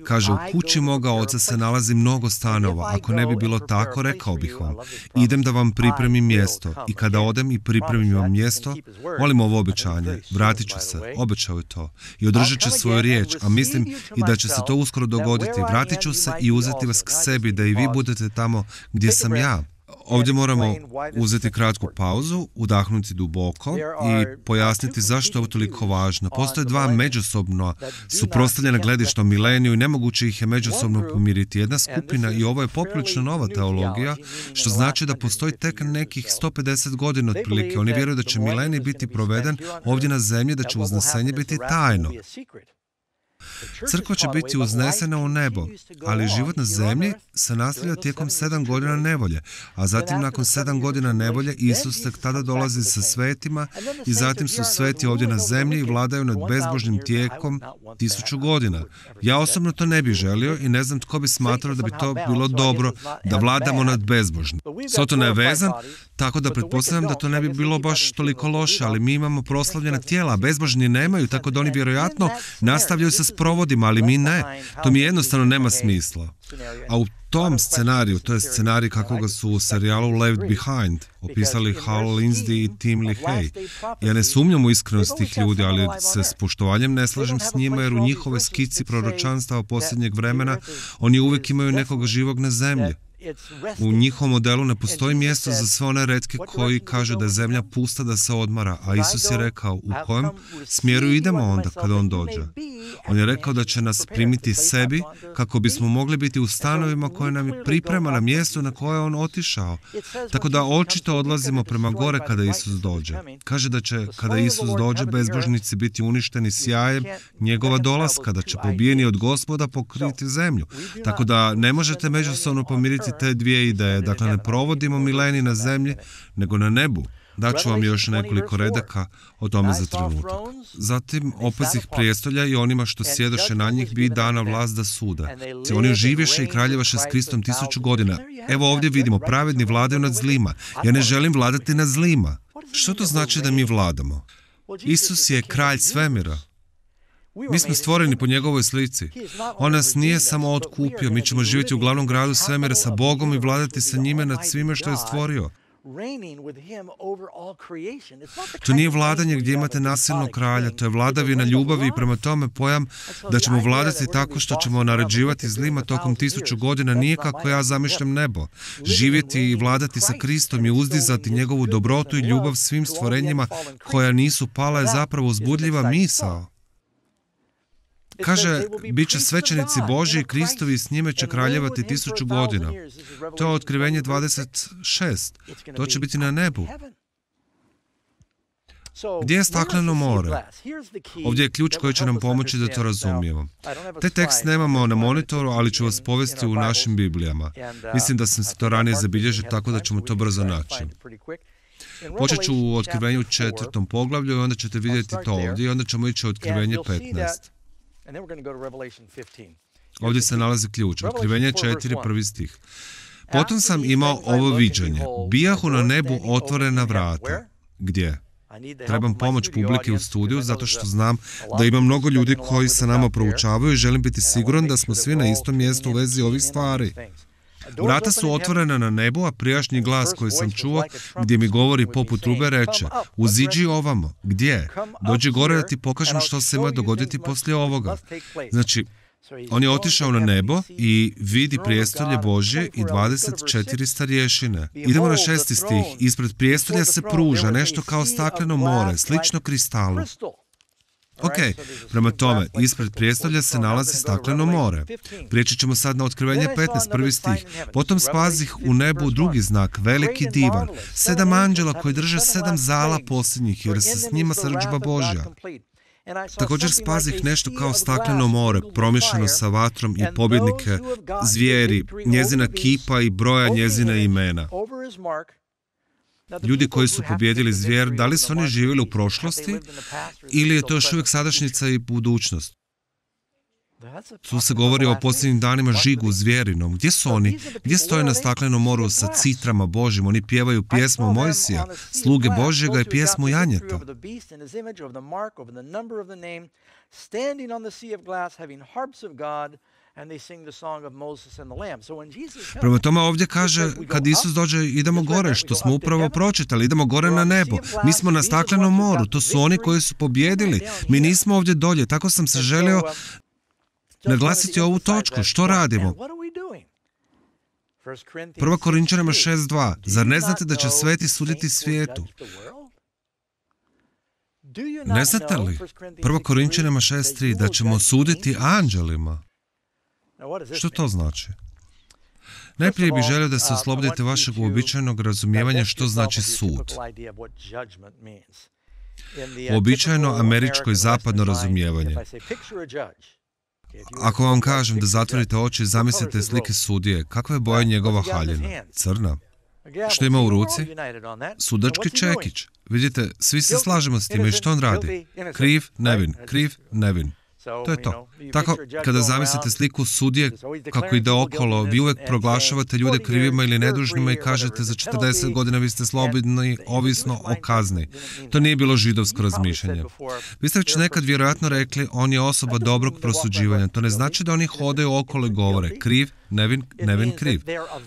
Kaže, u kući moga oca se nalazi mnogo stanova. Ako ne bi bilo tako, rekao bih vam, idem da vam pripremim mjesto. I kada odem i pripremim vam mjesto, molim ovo obećanje, vratit ću se, obećao je to. I održat ću svoju riječ, a mislim i da će se to uskoro dogoditi. Vratit ću se i uzeti vas k sebi, da i vi budete tamo gdje sam ja. Ovdje moramo uzeti kratku pauzu, udahnuti duboko i pojasniti zašto je ovo toliko važno. Postoje dva međusobno suprotstavljena gledišta o mileniju i nemoguće ih je međusobno pomiriti. Jedna skupina, i ovo je poprilično nova teologija, što znači da postoji tek nekih 150 godina otprilike. Oni vjeruju da će milenij biti proveden ovdje na zemlji, da će uznesenje biti tajno. Crkva će biti uznesena u nebo, ali život na zemlji se nastavlja tijekom 7 godina nevolje, a zatim nakon 7 godina nevolje Isus tek tada dolazi sa svetima i zatim su sveti ovdje na zemlji i vladaju nad bezbožnim tijekom 1000 godina. Ja osobno to ne bih želio i ne znam tko bi smatrao da bi to bilo dobro da vladamo nad bezbožnim. Sotona je vezan, tako da pretpostavljam da to ne bi bilo baš toliko loše, ali mi imamo proslavljena tijela, a bezbožni nemaju, tako da oni vjerojatno nastavljaju sa sprovodima, ali mi ne. To mi jednostavno nema smisla. A u tom scenariju, to je scenarij kakvoga su u serijalu Left Behind opisali Hal Lindsey i Tim LaHaye. Ja ne sumnjam u iskrenost tih ljudi, ali se s poštovanjem ne slažem s njima, jer u njihove skici proročanstava posljednjeg vremena oni uvijek imaju nekog živog na zemlji. U njihovom modelu ne postoji mjesto za sve one retke koji kažu da je zemlja pusta, da se odmara, a Isus je rekao u kojem smjeru idemo onda kada on dođe. On je rekao da će nas primiti sebi kako bismo mogli biti u stanovima koje nam priprema na mjestu na koje je on otišao. Tako da očito odlazimo prema gore kada Isus dođe. Kaže da će kada Isus dođe bezbožnici biti uništeni sjajem njegova dolaska, da će pobijeni od Gospoda pokriti zemlju. Tako da ne možete međusobno pomiriti te dvije ideje. Dakle, ne provodimo milenij na zemlji, nego na nebu. Daću vam još nekoliko redaka o tome za trenutak. Zatim opazih prijestolja i onima što sjedoše na njih bi dana vlast da sude. Oni živješe i kraljevaše s Kristom 1000 godina. Evo ovdje vidimo, pravedni vladaju nad zlima. Ja ne želim vladati nad zlima. Što to znači da mi vladamo? Isus je kralj svemira. Mi smo stvoreni po njegovoj slici. On nas nije samo otkupio, mi ćemo živjeti u glavnom gradu svemira sa Bogom i vladati sa njime nad svime što je stvorio. To nije vladanje gdje imate nasilnog kralja, to je vladavina ljubavi i prema tome pojam da ćemo vladati tako što ćemo naređivati zlima tokom 1000 godina nije kako ja zamišljam nebo. Živjeti i vladati sa Kristom i uzdizati njegovu dobrotu i ljubav svim stvorenjima koja nisu pala je zapravo uzbudljiva misao. Kaže, bit će svećenici Božji i Kristovi i s njime će kraljevati 1000 godina. To je Otkrivenje 26. To će biti na nebu. Gdje je stakleno more? Ovdje je ključ koji će nam pomoći da to razumijemo. Taj tekst nemamo na monitoru, ali ću vas povesti u našim Biblijama. Mislim da sam se to ranije zabilježio, tako da ćemo to brzo naći. Počet ću u Otkrivenju 4. poglavlju i onda ćete vidjeti to ovdje i onda ćemo ići u Otkrivenje 15. Ovdje se nalazi ključ. Otkrivenje 4, 1. stih. Potom sam imao ovo viđenje. Bijahu na nebu otvorena vrata. Gdje? Trebam pomoć publike u studiju zato što znam da ima mnogo ljudi koji sa nama proučavaju i želim biti siguran da smo svi na istom mjestu u vezi ovih stvari. Vrata su otvorena na nebu, a prijašnji glas koji sam čuo gdje mi govori poput trube reče: uziđi ovamo. Gdje? Dođi gore da ti pokažem što se ima dogoditi poslije ovoga. Znači, on je otišao na nebo i vidi prijestolje Božje i 24 starješine. Idemo na 6. stih. Ispred prijestolja se pruža nešto kao stakleno more, slično kristalu. Ok, prema tome, ispred prijestolja se nalazi stakleno more. Prijeći ćemo sad na Otkrivenje 15, 1. stih. Potom spazih u nebu drugi znak, veliki divan, 7 anđela koji drže 7 zala posljednjih, jer se s njima srdžba Božja. Također spazih nešto kao stakleno more, promješano sa vatrom i pobjednike, zvijeri, njezina kipa i broja njezina imena. Ljudi koji su pobjedili zvijer, da li su oni živjeli u prošlosti ili je to još uvijek sadašnjica i budućnost? Tu se govori o posljednjim danima žigu zvijerinom. Gdje su oni? Gdje stoje na staklenom moru sa citrama Božjim? Oni pjevaju pjesmu Mojsija, sluge Božjega i pjesmu Janjeta. Prema tome ovdje kaže, kad Isus dođe, idemo gore, što smo upravo pročitali, idemo gore na nebo. Mi smo na staklenom moru, to su oni koji su pobjedili. Mi nismo ovdje dolje, tako sam se želio naglasiti ovu točku. Što radimo? 1. Korinčanima 6.2. Zar ne znate da će sveti suditi svijetu? Ne znate li? 1. Korinčanima 6.3. da ćemo suditi anđelima. Što to znači? Najprije bih želio da se oslobodite vašeg uobičajenog razumijevanja što znači sud. Uobičajeno američko i zapadno razumijevanje. Ako vam kažem da zatvorite oči i zamislite slike sudije, kakva je boja njegova haljina? Crna. Što ima u ruci? Sudački čekić. Vidite, svi se slažemo s time i što on radi? Kriv, nevin, kriv, nevin. To je to. Tako, kada zamislite sliku sudije kako ide okolo, vi uvijek proglašavate ljude krivima ili nedužnima i kažete za 40 godina vi ste slobodni, ovisno o kazni. To nije bilo židovsko razmišljanje. Vi ste već nekad vjerojatno rekli, on je osoba dobrog prosuđivanja. To ne znači da oni hodaju okolo i govore kriv, nevin, nevin, kriv.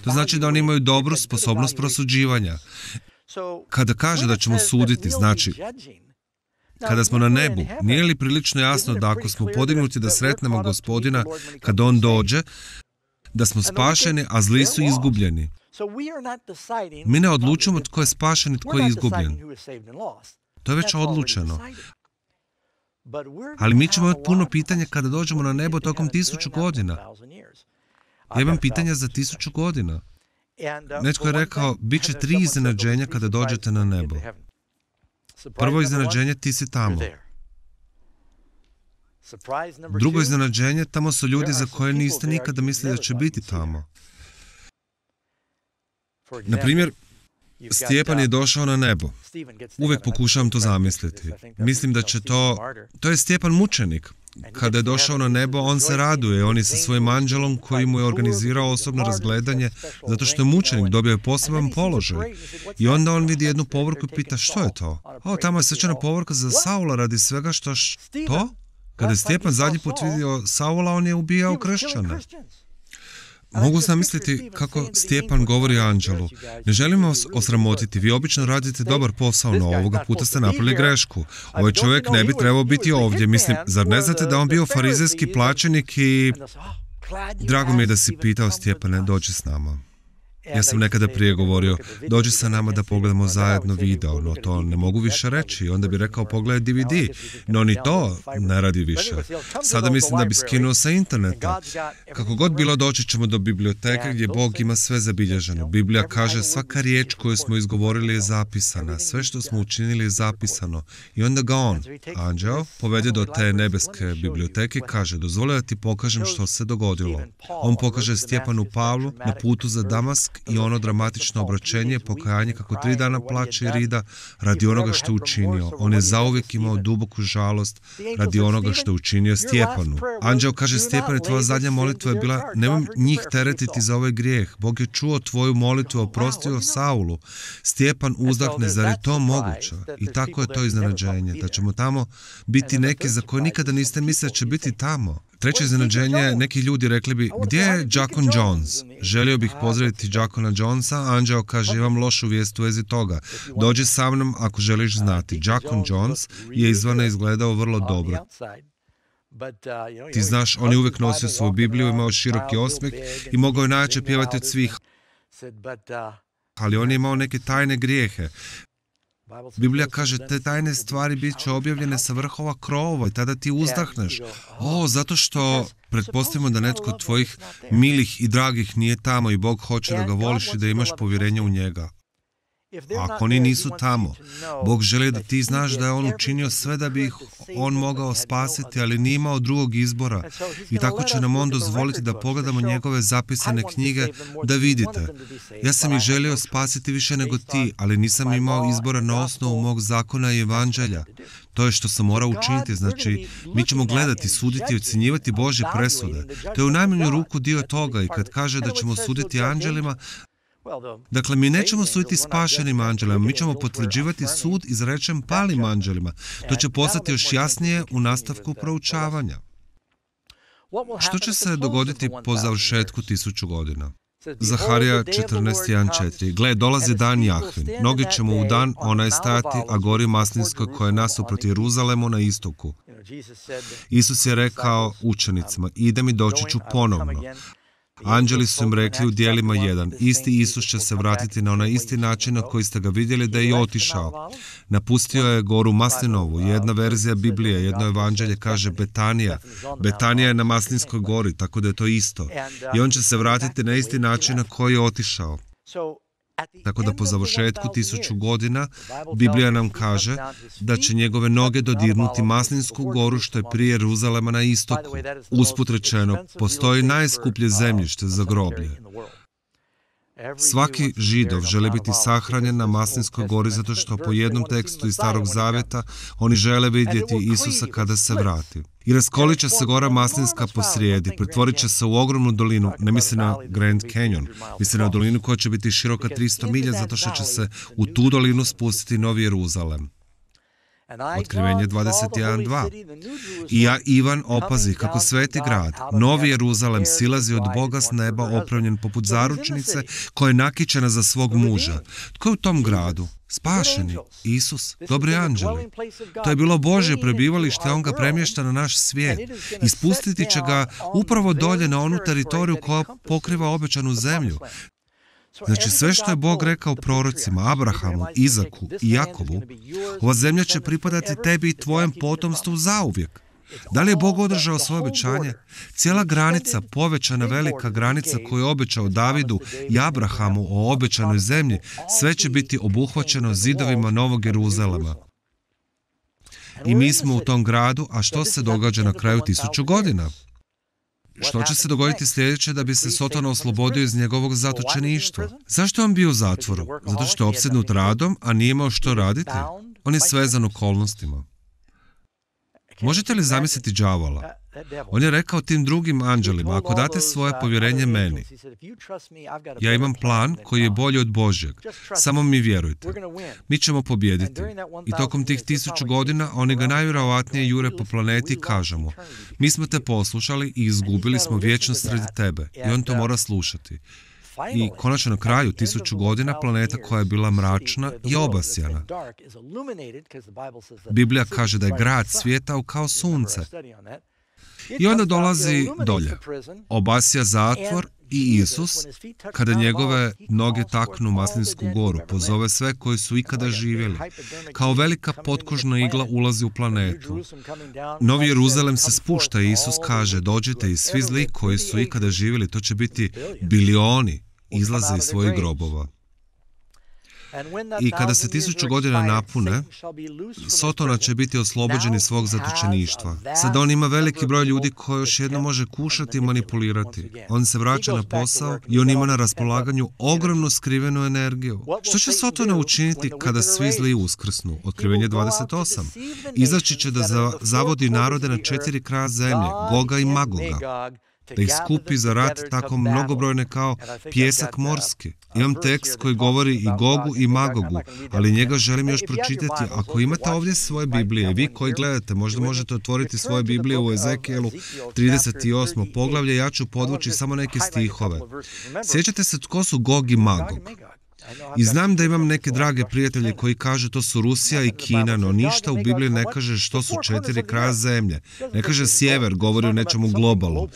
To znači da oni imaju dobru sposobnost prosuđivanja. Kada kaže da ćemo suditi, znači kada smo na nebu, nije li prilično jasno da ako smo podignuti da sretnemo Gospodina kad On dođe, da smo spašeni, a zli su izgubljeni? Mi ne odlučujemo tko je spašen i tko je izgubljen. To je već odlučeno. Ali mi ćemo imati puno pitanja kada dođemo na nebo tokom 1000 godina. Ja imam pitanja za 1000 godina. Netko je rekao, bit će 3 iznenađenja kada dođete na nebo. Prvo iznenađenje, ti si tamo. Drugo iznenađenje, tamo su ljudi za koje niste nikada mislili da će biti tamo. Na primjer, Stjepan je došao na nebo. Uvijek pokušavam to zamisliti. Mislim da će to je Stjepan mučenik. Kada je došao na nebo, on se raduje. On je sa svojim anđelom koji mu je organizirao osobno razgledanje, zato što je mučenik, dobio je poseban položaj. I onda on vidi jednu povorku i pita, što je to? Tamo je svečana povorka za Saula radi svega što... To? Kada je Stjepan zadnji put vidio Saula, on je ubijao kršćane. Mogu sam misliti kako Stjepan govori anđelu. Ne želim vas osramotiti, vi obično radite dobar posao, no ovoga puta ste napravili grešku. Ovaj čovjek ne bi trebao biti ovdje. Mislim, zar ne znate da on bio farizejski plaćenik i... Drago mi je da si pitao Stjepane, dođi s nama. Ja sam nekada prije govorio, dođi sa nama da pogledamo zajedno video, no to ne mogu više reći. Onda bi rekao, pogledaj DVD, no ni to ne radi više. Sada mislim da bi skinuo sa interneta. Kako god bilo, doći ćemo do biblioteke gdje Bog ima sve zabilježeno. Biblija kaže, svaka riječ koju smo izgovorili je zapisana, sve što smo učinili je zapisano. I onda ga on, anđeo, povede do te nebeske biblioteke i kaže, dozvoli da ti pokažem što se dogodilo. On pokaže Stjepanu Pavlu na putu za Damask Isak i ono dramatično obraćenje, pokajanje kako 3 dana plače i rida radi onoga što je učinio. On je zauvijek imao duboku žalost radi onoga što je učinio Stjepanu. Anđeo kaže: Stjepane, tvoja zadnja molitva je bila: nemoj njih teretiti za ovaj grijeh. Bog je čuo tvoju molitvu, oprostio Saulu. Stjepan uzdahne: zar je to moguće? I tako je to iznenađenje, da ćemo tamo biti neki za koje nikada niste mislili da će biti tamo. Treće iznenađenje, neki ljudi rekli bi: gdje je Jackon Jones? Želio bih pozdraviti Jackona Jonesa. Anđeo kaže: imam lošu vijest u vezi toga. Dođi sa mnom ako želiš znati. Jackon Jones je izvana izgledao vrlo dobro. Ti znaš, on je uvijek nosio svoju Bibliju, imao široki osmijeh i mogao je najjače pjevati od svih. Ali on je imao neke tajne grijehe. Biblija kaže: te tajne stvari bit će objavljene sa vrhova krovova i tada ti uzdahneš. Zato što pretpostavimo da netko od tvojih milih i dragih nije tamo i Bog hoće da ga voliš i da imaš povjerenje u njega. Ako oni nisu tamo, Bog želi da ti znaš da je on učinio sve da bi ih on mogao spasiti, ali nije imao drugog izbora. I tako će nam on dozvoliti da pogledamo njegove zapisane knjige, da vidite: ja sam ih želio spasiti više nego ti, ali nisam imao izbora na osnovu mog zakona i evanđelja. To je što sam morao učiniti. Znači, mi ćemo gledati, suditi i ocjenjivati Božje presude. To je u najmanju ruku dio toga. I kad kaže da ćemo suditi anđelima, dakle, mi nećemo suditi spašenim anđelima, mi ćemo potvrđivati sud izrečen palim anđelima. To će postati još jasnije u nastavku proučavanja. Što će se dogoditi po završetku 1000 godina? Zaharija 14.1.4. Gle, dolazi dan Jahvin. Mnogi ćemo u dan onaj stajati, a gori Maslinskoj koja je nasuprot Jeruzalemu na istoku. Isus je rekao učenicima: idem i doći ću ponovno. Anđeli su im rekli u djelima 1: isti Isus će se vratiti na onaj isti način na koji ste ga vidjeli da je i otišao. Napustio je goru Maslinovu. Jedna verzija Biblije, jedno evanđelje kaže Betanija. Betanija je na Maslinskoj gori, tako da je to isto. I on će se vratiti na isti način na koji je otišao. Tako da po završetku 1000 godina Biblija nam kaže da će njegove noge dodirnuti Maslinsku goru što je prije Jeruzalema na istoku. Usput rečeno, postoji najskuplje zemljište za groblje. Svaki Židov želi biti sahranjen na Maslinskoj gori zato što po jednom tekstu iz Starog Zavjeta oni žele vidjeti Isusa kada se vrati. I raskolit će se gora Maslinska posrijedi, pretvorit će se u ogromnu dolinu, ne misli na Grand Canyon, misli na dolinu koja će biti široka 300 milja zato što će se u tu dolinu spustiti Novi Jeruzalem. Otkrivenje 21.2. I ja, Ivan, opazi kako sveti grad, Novi Jeruzalem, silazi od Boga s neba opravljen poput zaručnice koja je nakićena za svog muža. Tko je u tom gradu? Spašeni, Isus, dobri anđeli. To je bilo Božje prebivalište, on ga premješta na naš svijet. I spustiti će ga upravo dolje na onu teritoriju koja pokriva obećanu zemlju. Znači, sve što je Bog rekao prorocima, Abrahamu, Izaku i Jakobu, ova zemlja će pripadati tebi i tvojem potomstvu zauvijek. Da li je Bog održao svoje obećanje? Cijela granica, povećana velika granica koju je obećao Davidu i Abrahamu o obećanoj zemlji, sve će biti obuhvaćeno zidovima Novog Jeruzalema. I mi smo u tom gradu, a što se događa na kraju 1000 godina? Što će se dogoditi sljedeće da bi se Sotona oslobodio iz njegovog zatočeništva? Zašto je on bio u zatvoru? Zato što je opsjednut radom, a nije imao što raditi? On je svezan okolnostima. Možete li zamisliti đavola? On je rekao tim drugim anđelima: ako date svoje povjerenje meni, ja imam plan koji je bolji od Božjeg. Samo mi vjerujte. Mi ćemo pobijediti. I tokom tih 1000 godina oni ga najvjerojatnije jure po planeti i kažu mu: mi smo te poslušali i izgubili smo vječnost radi tebe. I on to mora slušati. I konačno na kraju 1000 godina planeta koja je bila mračna je obasjana. Biblija kaže da je grad svijetao kao sunce. I onda dolazi dolje. Obasja zatvor i Isus, kada njegove noge taknu Maslinsku goru, pozove sve koji su ikada živjeli. Kao velika potkožna igla ulazi u planetu. Novi Jeruzalem se spušta i Isus kaže: dođite i svi zli koji su ikada živjeli, to će biti bilioni, izlaze iz svojih grobova. I kada se 1000 godina napune, Sotona će biti oslobođen iz svog zatočeništva. Sada on ima veliki broj ljudi koji još jedno može kušati i manipulirati. On se vraća na posao i on ima na raspolaganju ogromnu skrivenu energiju. Što će Sotona učiniti kada svi zli uskrsnu? Otkrivenje 28. Izaći će da zavodi narode na 4 kraja zemlje, Goga i Magoga, da ih skupi za rat tako mnogobrojne kao pijesak morski. Imam tekst koji govori i Gogu i Magogu, ali njega želim još pročitati. Ako imate ovdje svoje Biblije, vi koji gledate, možda možete otvoriti svoje Biblije u Ezekijelu 38. poglavlje, ja ću podvući samo neke stihove. Sjećate se tko su Gog i Magog? I znam da imam neke drage prijatelje koji kažu to su Rusija i Kina, no ništa u Bibliji ne kaže što su 4 kraja zemlje. Ne kaže sjever, govori o nečemu globalnom.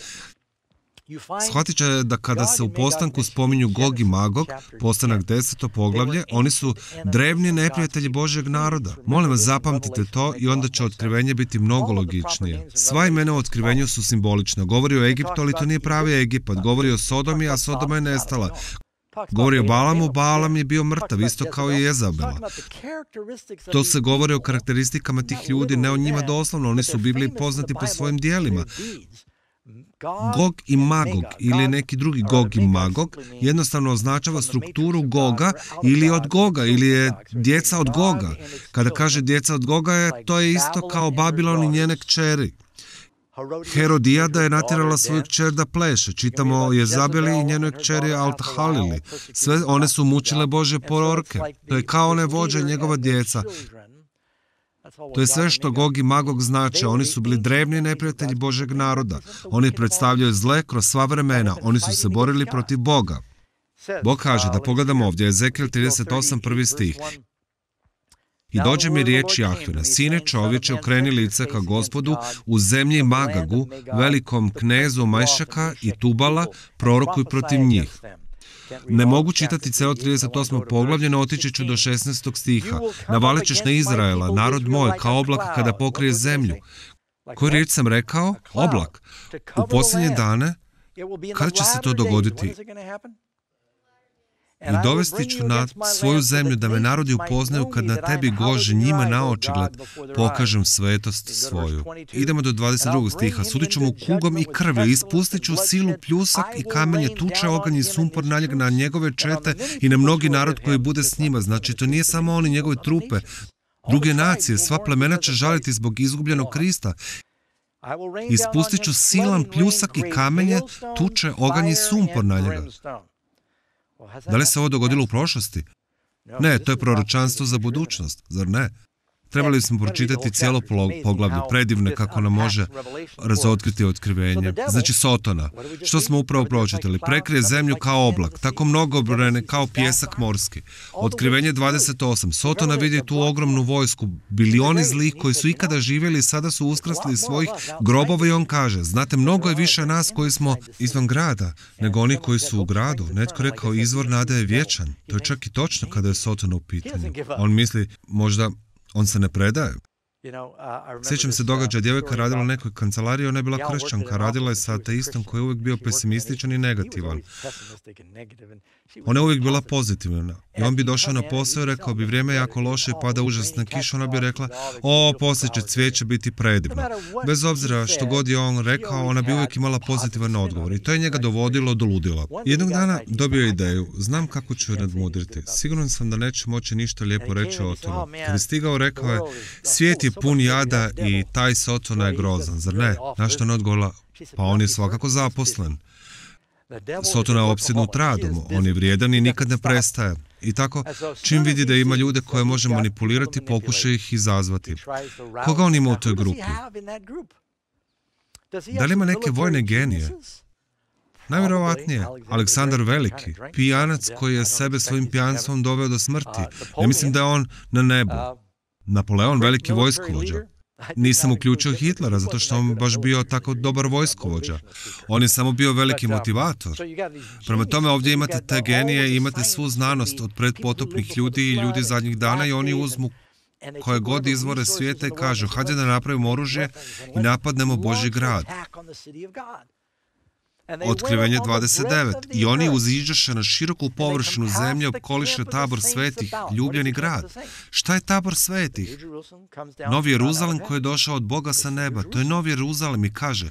Shvatit će da kada se u postanku spominju Gog i Magog, postanak 10. poglavlje, oni su drevni neprijatelji Božjeg naroda. Molim vas, zapamtite to i onda će otkrivenje biti mnogo logičnije. Sva imena u otkrivenju su simbolična. Govori o Egiptu, ali to nije pravi Egipat. Govori o Sodomi, a Sodoma je nestala. Govori o Balamu, Balam je bio mrtav, isto kao i Jezabela. To se govori o karakteristikama tih ljudi, ne o njima doslovno, oni su u Bibliji poznati po svojim dijelima. Gog i Magog ili neki drugi Gog i Magog jednostavno označava strukturu Goga ili od Goga ili je djeca od Goga. Kada kaže djeca od Goga, to je isto kao Babilon i njene kćeri. Herodijada je natjerala svoju kćer da pleše. Čitamo o Jezabeli i njenoj kćeri Altahalili. Sve one su mučile Božje proroke. To je kao one vođe i njegova djeca. To je sve što Gog i Magog znače. Oni su bili drevni neprijatelji Božjeg naroda. Oni predstavljaju zle kroz sva vremena. Oni su se borili protiv Boga. Bog kaže, da pogledamo ovdje, Ezekijel 38, 1. stih. I dođe mi riječ Jahvina, sine čovječe, okreni lice ka Gospodu u zemlji Magagu, velikom knezu Majšaka i Tubala, prorokuj protiv njih. Ne mogu čitati celo 38. poglavlje, no otići ću do 16. stiha. Navalit ćeš na Izraela, narod moj, kao oblak kada pokrije zemlju. Koju riječ sam rekao? Oblak. U posljednje dane, kada će se to dogoditi? I dovesti ću na svoju zemlju da me narodi upoznaju kad na tebi, Gože, njima na očigled pokažem svetost svoju. Idemo do 22. stiha. Sudit ću mu kugom i krvlju, ispustit ću silu, pljusak i kamenje, tuče, oganj i sumpor na njegove čete i na mnogi narod koji bude s njima. Znači, to nije samo oni, njegove trupe. Druge nacije, sva plemena će žaliti zbog izgubljenog Krista. Ispustit ću silan pljusak i kamenje, tuče, oganj i sumpor na njega. Da li se ovo dogodilo u prošlosti? Ne, to je proročanstvo za budućnost, zar ne? Trebali smo pročitati cijelo poglavlje, predivne kako nam može razotkriti otkrivenje. Znači Sotona. Što smo upravo pročitali? Prekrije zemlju kao oblak, tako mnogobrojne kao pijesak morski. Otkrivenje 28. Sotona vidi tu ogromnu vojsku, bilioni zlih koji su ikada živjeli i sada su uskrasli iz svojih grobova i on kaže, znate, mnogo je više nas koji smo izvan grada, nego oni koji su u gradu. Netko rekao, izvor nade je vječan. To je čak i točno kada je Sotona u pitanju. On misli, možda on se ne predaje. Sjećam se događaja, djevojka radila u nekoj kancelariji, ona je bila kršćanka, radila je sa ateistom koji je uvijek bio pesimističan i negativan. Ona je uvijek bila pozitivna. I on bi došao na posao i rekao bi, vrijeme je jako loše i pada užasna kiša, ona bi rekla, poslije će cvijeće biti predivno. Bez obzira što god je on rekao, ona bi uvijek imala pozitivan odgovor i to je njega dovodilo do ludila. Jednog dana dobio je ideju, znam kako ću je nadmudriti. Siguran sam da neće moći ništa lijepo reći o tome. Kad je stigao, rekao je, svijet je pun jada i taj Sotona je grozan, zar ne? Na što on odgovorila, pa on je svakako zaposlen. Sotona je opsjednut radom, on je vrijedan i nikad ne prestaje. I tako, čim vidi da ima ljude koje može manipulirati, pokuša ih izazvati. Koga on ima u toj grupi? Da li ima neke vojne genije? Najvjerovatnije, Aleksandar Veliki, pijanac koji je sebe svojim pijanstvom doveo do smrti. Ja mislim da je on na nebu. Napoleon, veliki vojskovođa. Nisam uključio Hitlera, zato što on baš bio tako dobar vojskovođa. On je samo bio veliki motivator. Prema tome, ovdje imate te genije i imate svu znanost od predpotopnih ljudi i ljudi zadnjih dana i oni uzmu koje god izvore svijeta i kažu, hajde da napravimo oružje i napadnemo Božji grad. Otkrivenje 29. I oni uziđaše na široku površinu zemlje, opkoliše tabor svetih, ljubljeni grad. Šta je tabor svetih? Novi Jeruzalem koji je došao od Boga sa neba. To je Novi Jeruzalem i kaže,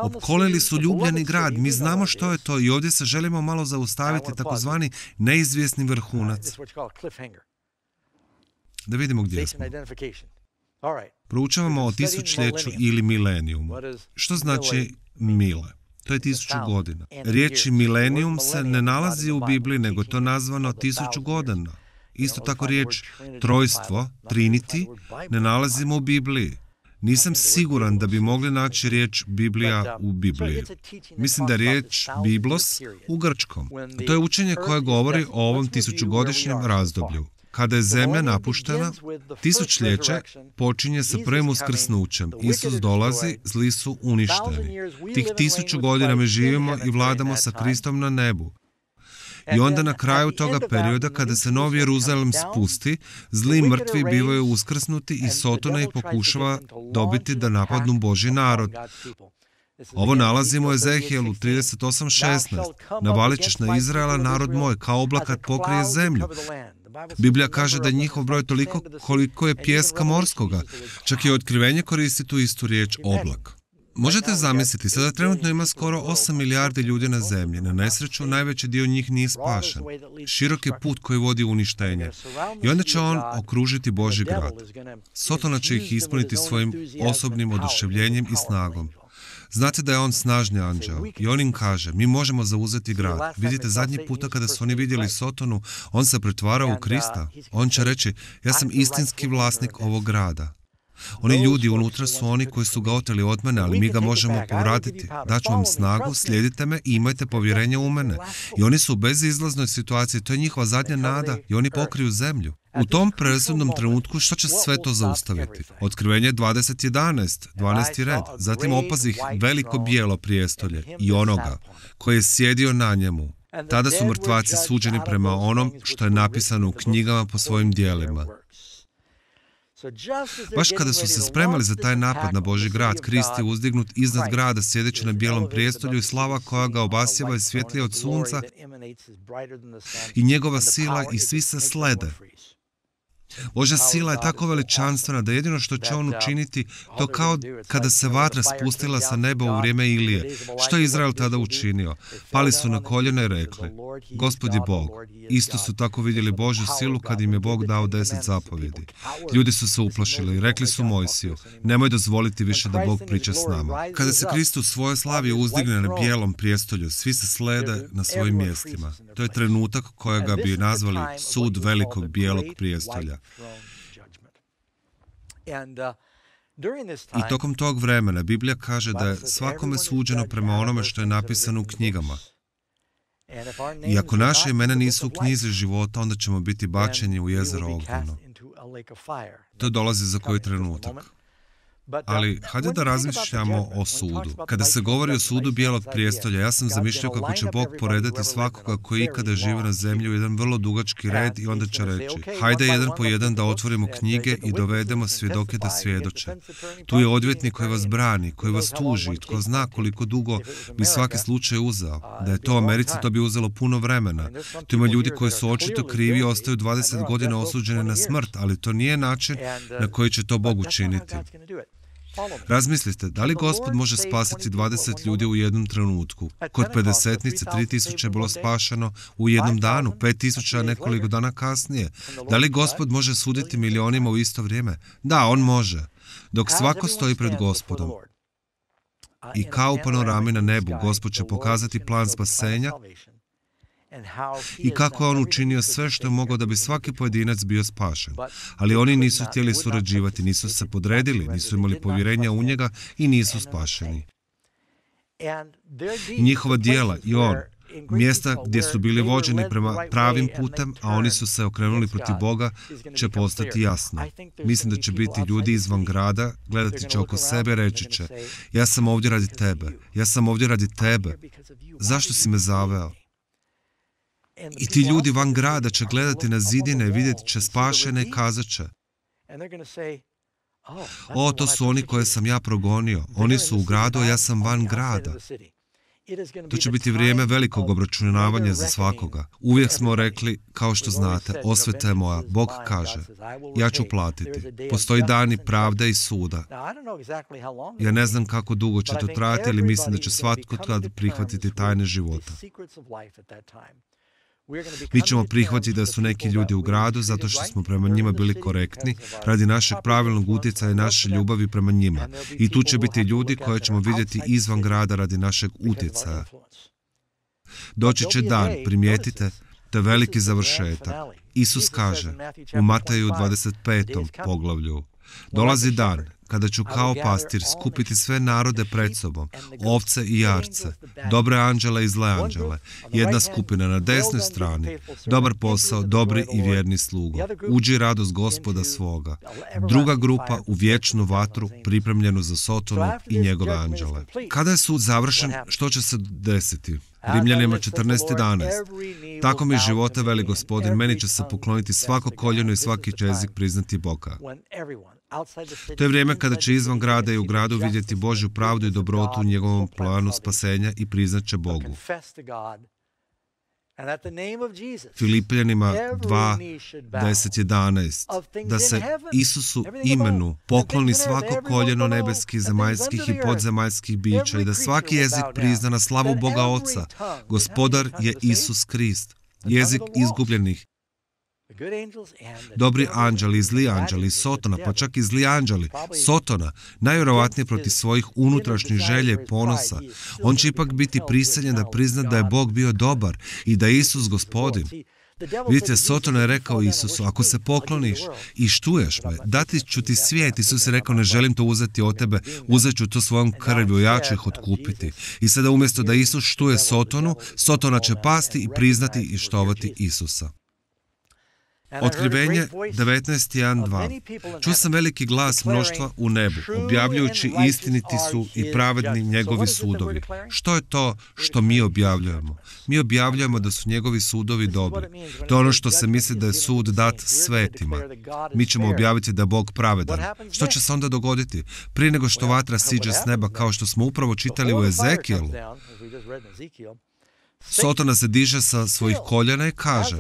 opkolili su ljubljeni grad. Mi znamo što je to i ovdje se želimo malo zaustaviti, takozvani neizvjesni vrhunac. Da vidimo gdje smo. Proučavamo o tisućljeću ili milenijumu. Što znači mile? To je 1000 godina. Riječi milenijum se ne nalazi u Bibliji, nego je to nazvano 1000 godina. Isto tako riječ trojstvo, Trinity, ne nalazimo u Bibliji. Nisam siguran da bi mogli naći riječ Biblija u Bibliji. Mislim da je riječ Biblos u grčkom. To je učenje koje govori o ovom 1000-godišnjem razdoblju. Kada je zemlja napuštena, tisućljeće počinje sa prvim uskrsnućem. Isus dolazi, zli su uništeni. Tih 1000 godina mi živimo i vladamo sa Kristom na nebu. I onda na kraju toga perioda, kada se Novi Jeruzalem spusti, zli i mrtvi bivaju uskrsnuti i Sotona ih pokušava dobiti da napadnu Božji narod. Ovo nalazimo u Ezehijelu 38:16. Navalit ćeš na Izraela, narod moj, kao oblak kad pokrije zemlju. Biblija kaže da je njihov broj toliko koliko je pijeska morskoga. Čak i Otkrivenje koristi tu istu riječ oblak. Možete zamisliti, sada trenutno ima skoro 8 milijardi ljudi na zemlji. Na nesreću, najveći dio njih nije spašen. Širok je put koji vodi u uništenje. I onda će on okružiti Božji grad. Sotona će ih ispuniti svojim osobnim oduševljenjem i snagom. Znate da je on snažni anđeo i on im kaže, mi možemo zauzeti grad. Vidite, zadnji puta kada su oni vidjeli Sotonu, on se pretvarao u Krista. On će reći, ja sam istinski vlasnik ovog grada. Oni ljudi unutra su oni koji su ga oteli od mene, ali mi ga možemo povratiti. Daću vam snagu, slijedite me i imajte povjerenje u mene. I oni su u bezizlaznoj situaciji, to je njihova zadnja nada i oni pokriju zemlju. U tom presudnom trenutku što će sve to zaustaviti? Otkrivenje 20:11, 12. red. Zatim opazih veliko bijelo prijestolje i onoga koji je sjedio na njemu. Tada su mrtvaci suđeni prema onom što je napisano u knjigama po svojim djelima. Baš kada su se spremali za taj napad na Božji grad, Krist je uzdignut iznad grada, sjedeći na bijelom prijestolju i slava koja ga obasjava je svjetlija od sunca i njegova sila i svi se slede. Božja sila je tako veličanstvena da jedino što će on učiniti, to kao kada se vatra spustila sa neba u vrijeme Ilije. Što je Izrael tada učinio? Pali su na koljena i rekli, Gospod je Bog. Isto su tako vidjeli Božju silu kad im je Bog dao 10 zapovjedi. Ljudi su se uplašili i rekli su Mojsiju, nemoj dozvoliti više da Bog priča s nama. Kada se Krist u svojoj slavi uzdigne na bijelom prijestolju, svi se slede na svojim mjestima. To je trenutak kojega bi nazvali sud velikog bijelog prijestolja. I tokom tog vremena Biblija kaže da je svakome suđeno prema onome što je napisano u knjigama. I ako naše imena nisu u knjizi života, onda ćemo biti bačeni u jezero ognjeno. To dolazi za koji trenutak. Ali, hajde da razmišljamo o sudu. Kada se govori o sudu bijelog prijestolja, ja sam zamišljao kako će Bog poredati svakoga koji ikada živi na zemlji u jedan vrlo dugački red i onda će reći, hajde jedan po jedan da otvorimo knjige i dovedemo svjedoke da svjedoče. Tu je odvjetnik koji vas brani, koji vas tuži, tko zna koliko dugo bi svaki slučaj uzeo. Da je to u Americi, to bi uzelo puno vremena. Tu ima ljudi koji su očito krivi i ostaju 20 godina osuđeni na smrt, ali to nije način na koji će to Bog učiniti. Razmislite, da li Gospod može spasiti 20 ljudi u jednom trenutku? Kod Pedesetnice 3000 je bilo spašeno u jednom danu, 5000 nekoliko dana kasnije. Da li Gospod može suditi milionima u isto vrijeme? Da, on može. Dok svako stoji pred Gospodom. I kao u panorami na nebu, Gospod će pokazati plan spasenja i kako je on učinio sve što je mogao da bi svaki pojedinac bio spašen. Ali oni nisu htjeli surađivati, nisu se podredili, nisu imali povjerenja u njega i nisu spašeni. Njihova djela i on, mjesta gdje su bili vođeni prema pravim putem, a oni su se okrenuli protiv Boga, će postati jasno. Mislim da će biti ljudi izvan grada, gledati će oko sebe, reći će, ja sam ovdje radi tebe, ja sam ovdje radi tebe, zašto si me zaveo? I ti ljudi van grada će gledati na zidine i vidjeti će spašene i kazat će, O, to su oni koje sam ja progonio. Oni su u gradu, a ja sam van grada. To će biti vrijeme velikog obračunavanja za svakoga. Uvijek smo rekli, kao što znate, osveta je moja. Bog kaže, ja ću platiti. Postoji dani pravde i suda. Ja ne znam kako dugo će to trajati, ali mislim da će svatko tada prihvatiti tajne života. Mi ćemo prihvatiti da su neki ljudi u gradu zato što smo prema njima bili korektni radi našeg pravilnog utjecaja i naše ljubavi prema njima. I tu će biti ljudi koje ćemo vidjeti izvan grada radi našeg utjecaja. Doći će dan, primijetite, to je veliki završetak. Isus kaže u Mateju 25. poglavlju, dolazi dan kada ću kao pastir skupiti sve narode pred sobom, ovce i jarce, dobre anđele i zle anđele, jedna skupina na desnoj strani, dobar posao, dobri i vjerni slugo, uđi radost Gospoda svoga, druga grupa u vječnu vatru pripremljenu za Sotonu i njegove anđele. Kada je sud završen, što će se desiti? Rimljanima 14:11. Tako mi života, veli Gospodin, meni će se pokloniti svako koljeno i svaki jezik priznati Boga. To je vrijeme kada će izvan grada i u gradu vidjeti Božju pravdu i dobrotu u njegovom planu spasenja i priznat će Bogu. Filipljanima 2:10-11. Da se Isusu imenu pokloni svako koljeno nebeskih, zemaljskih i podzemaljskih bića i da svaki jezik prizna na slavu Boga Oca. Gospodar je Isus Krist. Jezik izgubljenih. Dobri anđeli i zli anđeli, Sotona, pa čak i zli anđeli, Sotona, najvjerovatnije protiv svojih unutrašnjih želje i ponosa. On će ipak biti prisiljen da prizna da je Bog bio dobar i da je Isus Gospodin. Vidite, Sotona je rekao Isusu, ako se pokloniš i štuješ me, dati ću ti svijet. Isus je rekao, ne želim to uzeti od tebe, uzet ću to svojom krvlju, ja ću ih otkupiti. I sada umjesto da Isus štuje Sotonu, Sotona će pasti i priznati i štovati Isusa. Otkrivenje 19:1-2. Čuo sam veliki glas mnoštva u nebu, objavljujući istiniti su i pravedni njegovi sudovi. Što je to što mi objavljujemo? Mi objavljujemo da su njegovi sudovi dobri. To je ono što se misli da je sud dat svetima. Mi ćemo objaviti da je Bog pravedan. Što će se onda dogoditi? Prije nego što vatra siđe s neba, kao što smo upravo čitali u Ezekijelu, Sotona se diže sa svojih koljena i kaže,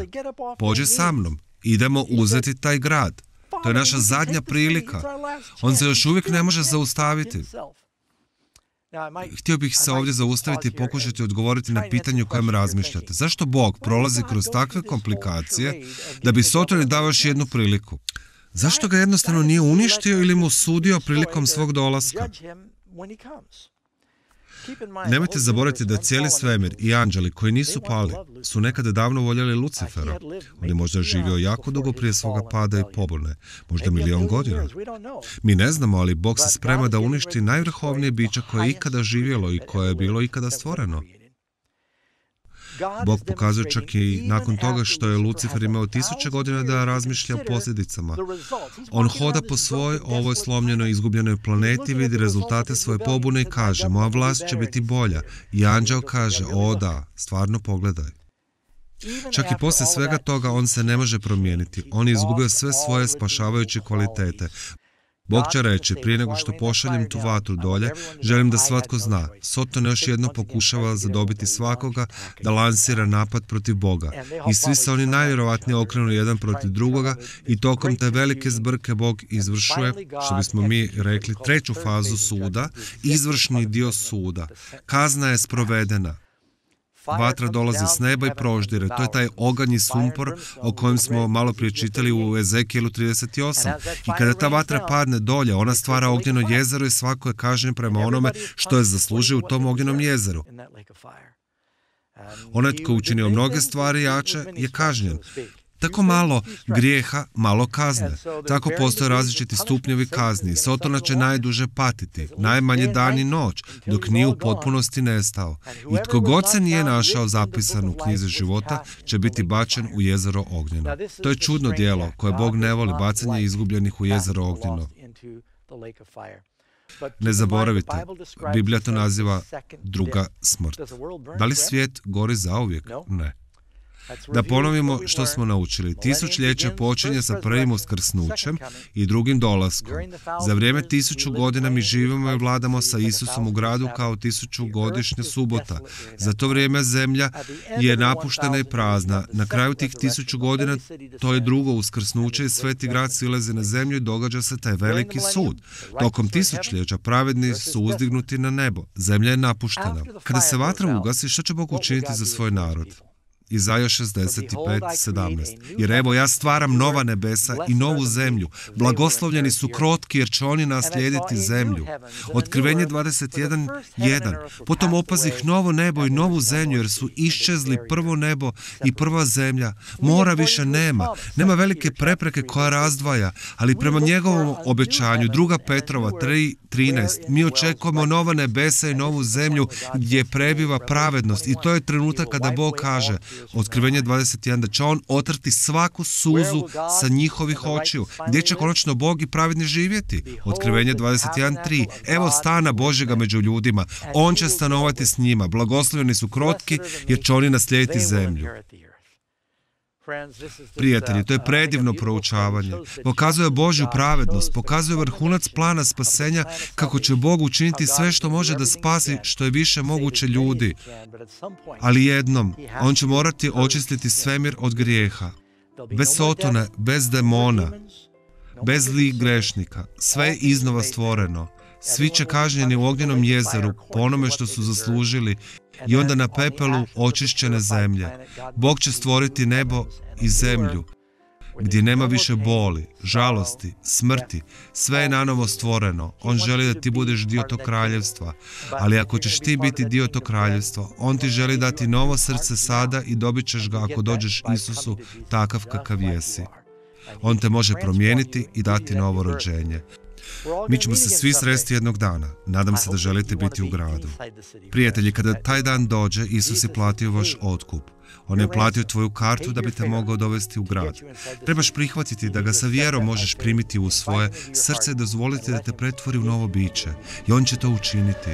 pođi sa mnom. Idemo uzeti taj grad. To je naša zadnja prilika. On se još uvijek ne može zaustaviti. Htio bih se ovdje zaustaviti i pokušati odgovoriti na pitanje o kojem razmišljate. Zašto Bog prolazi kroz takve komplikacije da bi Sotoni dao još jednu priliku? Zašto ga jednostavno nije uništio ili mu sudio prilikom svog dolaska? Nemojte zaboraviti da cijeli svemir i anđeli koji nisu pali su nekada davno voljeli Lucifera. On je možda živio jako dugo prije svoga pada i pobune, možda 1.000.000 godina. Mi ne znamo, ali Bog se sprema da uništi najvrhovnije biće koje je ikada živjelo i koje je bilo ikada stvoreno. Bog pokazuje čak i nakon toga što je Lucifer imao 1000 godina da razmišlja o posljedicama. On hoda po svojoj ovoj slomljenoj izgubljenoj planeti, vidi rezultate svoje pobune i kaže, moja vlast će biti bolja. I anđeo kaže, o da, stvarno pogledaj. Čak i poslije svega toga on se ne može promijeniti. On je izgubio sve svoje spašavajuće kvalitete. Bog će reći, prije nego što pošaljem tu vatru dolje, želim da svatko zna. Soton još jedno pokušava zadobiti svakoga da lansira napad protiv Boga. I svi se oni najvjerovatnije okrenu jedan protiv drugoga i tokom te velike zbrke Bog izvršuje, što bismo mi rekli, treću fazu suda, izvršni dio suda. Kazna je sprovedena. Vatra dolazi s neba i proždire. To je taj oganj i sumpor o kojem smo malo prije čitali u Ezekijelu 38. I kada ta vatra padne dolje, ona stvara ognjeno jezero i svako je kažnjen prema onome što je zaslužio u tom ognjenom jezeru. Onaj tko učinio mnoge stvari jače je kažnjen. Tako malo grijeha, malo kazne. Tako postoje različiti stupnjevi kazni. Sotona će najduže patiti, najmanje dan i noć, dok nije u potpunosti nestao. I tko god se nije našao zapisan u knjizi života, će biti bačen u jezero ognjeno. To je čudno djelo koje Bog ne voli, bacanje izgubljenih u jezero ognjeno. Ne zaboravite, Biblija to naziva druga smrt. Da li svijet gori zauvijek? Ne. Da ponovimo što smo naučili. Tisućljeće počinje sa prvim uskrsnućem i drugim dolaskom. Za vrijeme 1000 godina mi živimo i vladamo sa Isusom u gradu kao 1000-godišnja subota. Za to vrijeme zemlja je napuštena i prazna. Na kraju tih 1000 godina to je drugo uskrsnuće i sveti grad silazi na zemlju i događa se taj veliki sud. Tokom tisućljeća pravedni su uzdignuti na nebo. Zemlja je napuštena. Kada se vatra ugasi, što će Bog učiniti za svoj narod? Izaja 65:17. Jer evo ja stvaram nova nebesa i novu zemlju. Blagoslovljeni su krotki jer će oni naslijediti zemlju. Otkrivenje 21:1. Potom opazih novo nebo i novu zemlju jer su iščezli prvo nebo i prva zemlja. Mora više nema. Nema velike prepreke koja razdvaja, ali prema njegovom obećanju 2. Petrova 3:13 mi očekujemo nova nebesa i novu zemlju gdje prebiva pravednost i to je trenutak kada Bog kaže Otkrivenje 21, da će on otrti svaku suzu sa njihovih očiju. Gdje će konačno Bog i pravedni živjeti? Otkrivenje 21:3. Evo stana Božjega među ljudima. On će stanovati s njima. Blagoslovljeni su krotki jer će oni naslijediti zemlju. Prijatelji, to je predivno proučavanje. Pokazuje Božju pravednost, pokazuje vrhunac plana spasenja, kako će Bog učiniti sve što može da spasi što je više moguće ljudi. Ali jednom, on će morati očistiti svemir od grijeha. Bez Sotona, bez demona, bez zlih grešnika. Sve je iznova stvoreno. Svi će kažnjeni u ognjenom jezeru po onome što su zaslužili i onda na pepelu očišćene zemlje. Bog će stvoriti nebo i zemlju, gdje nema više boli, žalosti, smrti. Sve je nanovo stvoreno. On želi da ti budeš dio tog kraljevstva. Ali ako ćeš ti biti dio tog kraljevstva, on ti želi dati novo srce sada i dobit ćeš ga ako dođeš Isusu takav kakav jesi. On te može promijeniti i dati novo rođenje. Mi ćemo se svi sresti jednog dana. Nadam se da želite biti u gradu. Prijatelji, kada taj dan dođe, Isus je platio vaš otkup. On je platio tvoju kartu da bi te mogao dovesti u grad. Trebaš prihvatiti da ga sa vjerom možeš primiti u svoje srce i dozvoliti da te pretvori u novo biće. I on će to učiniti.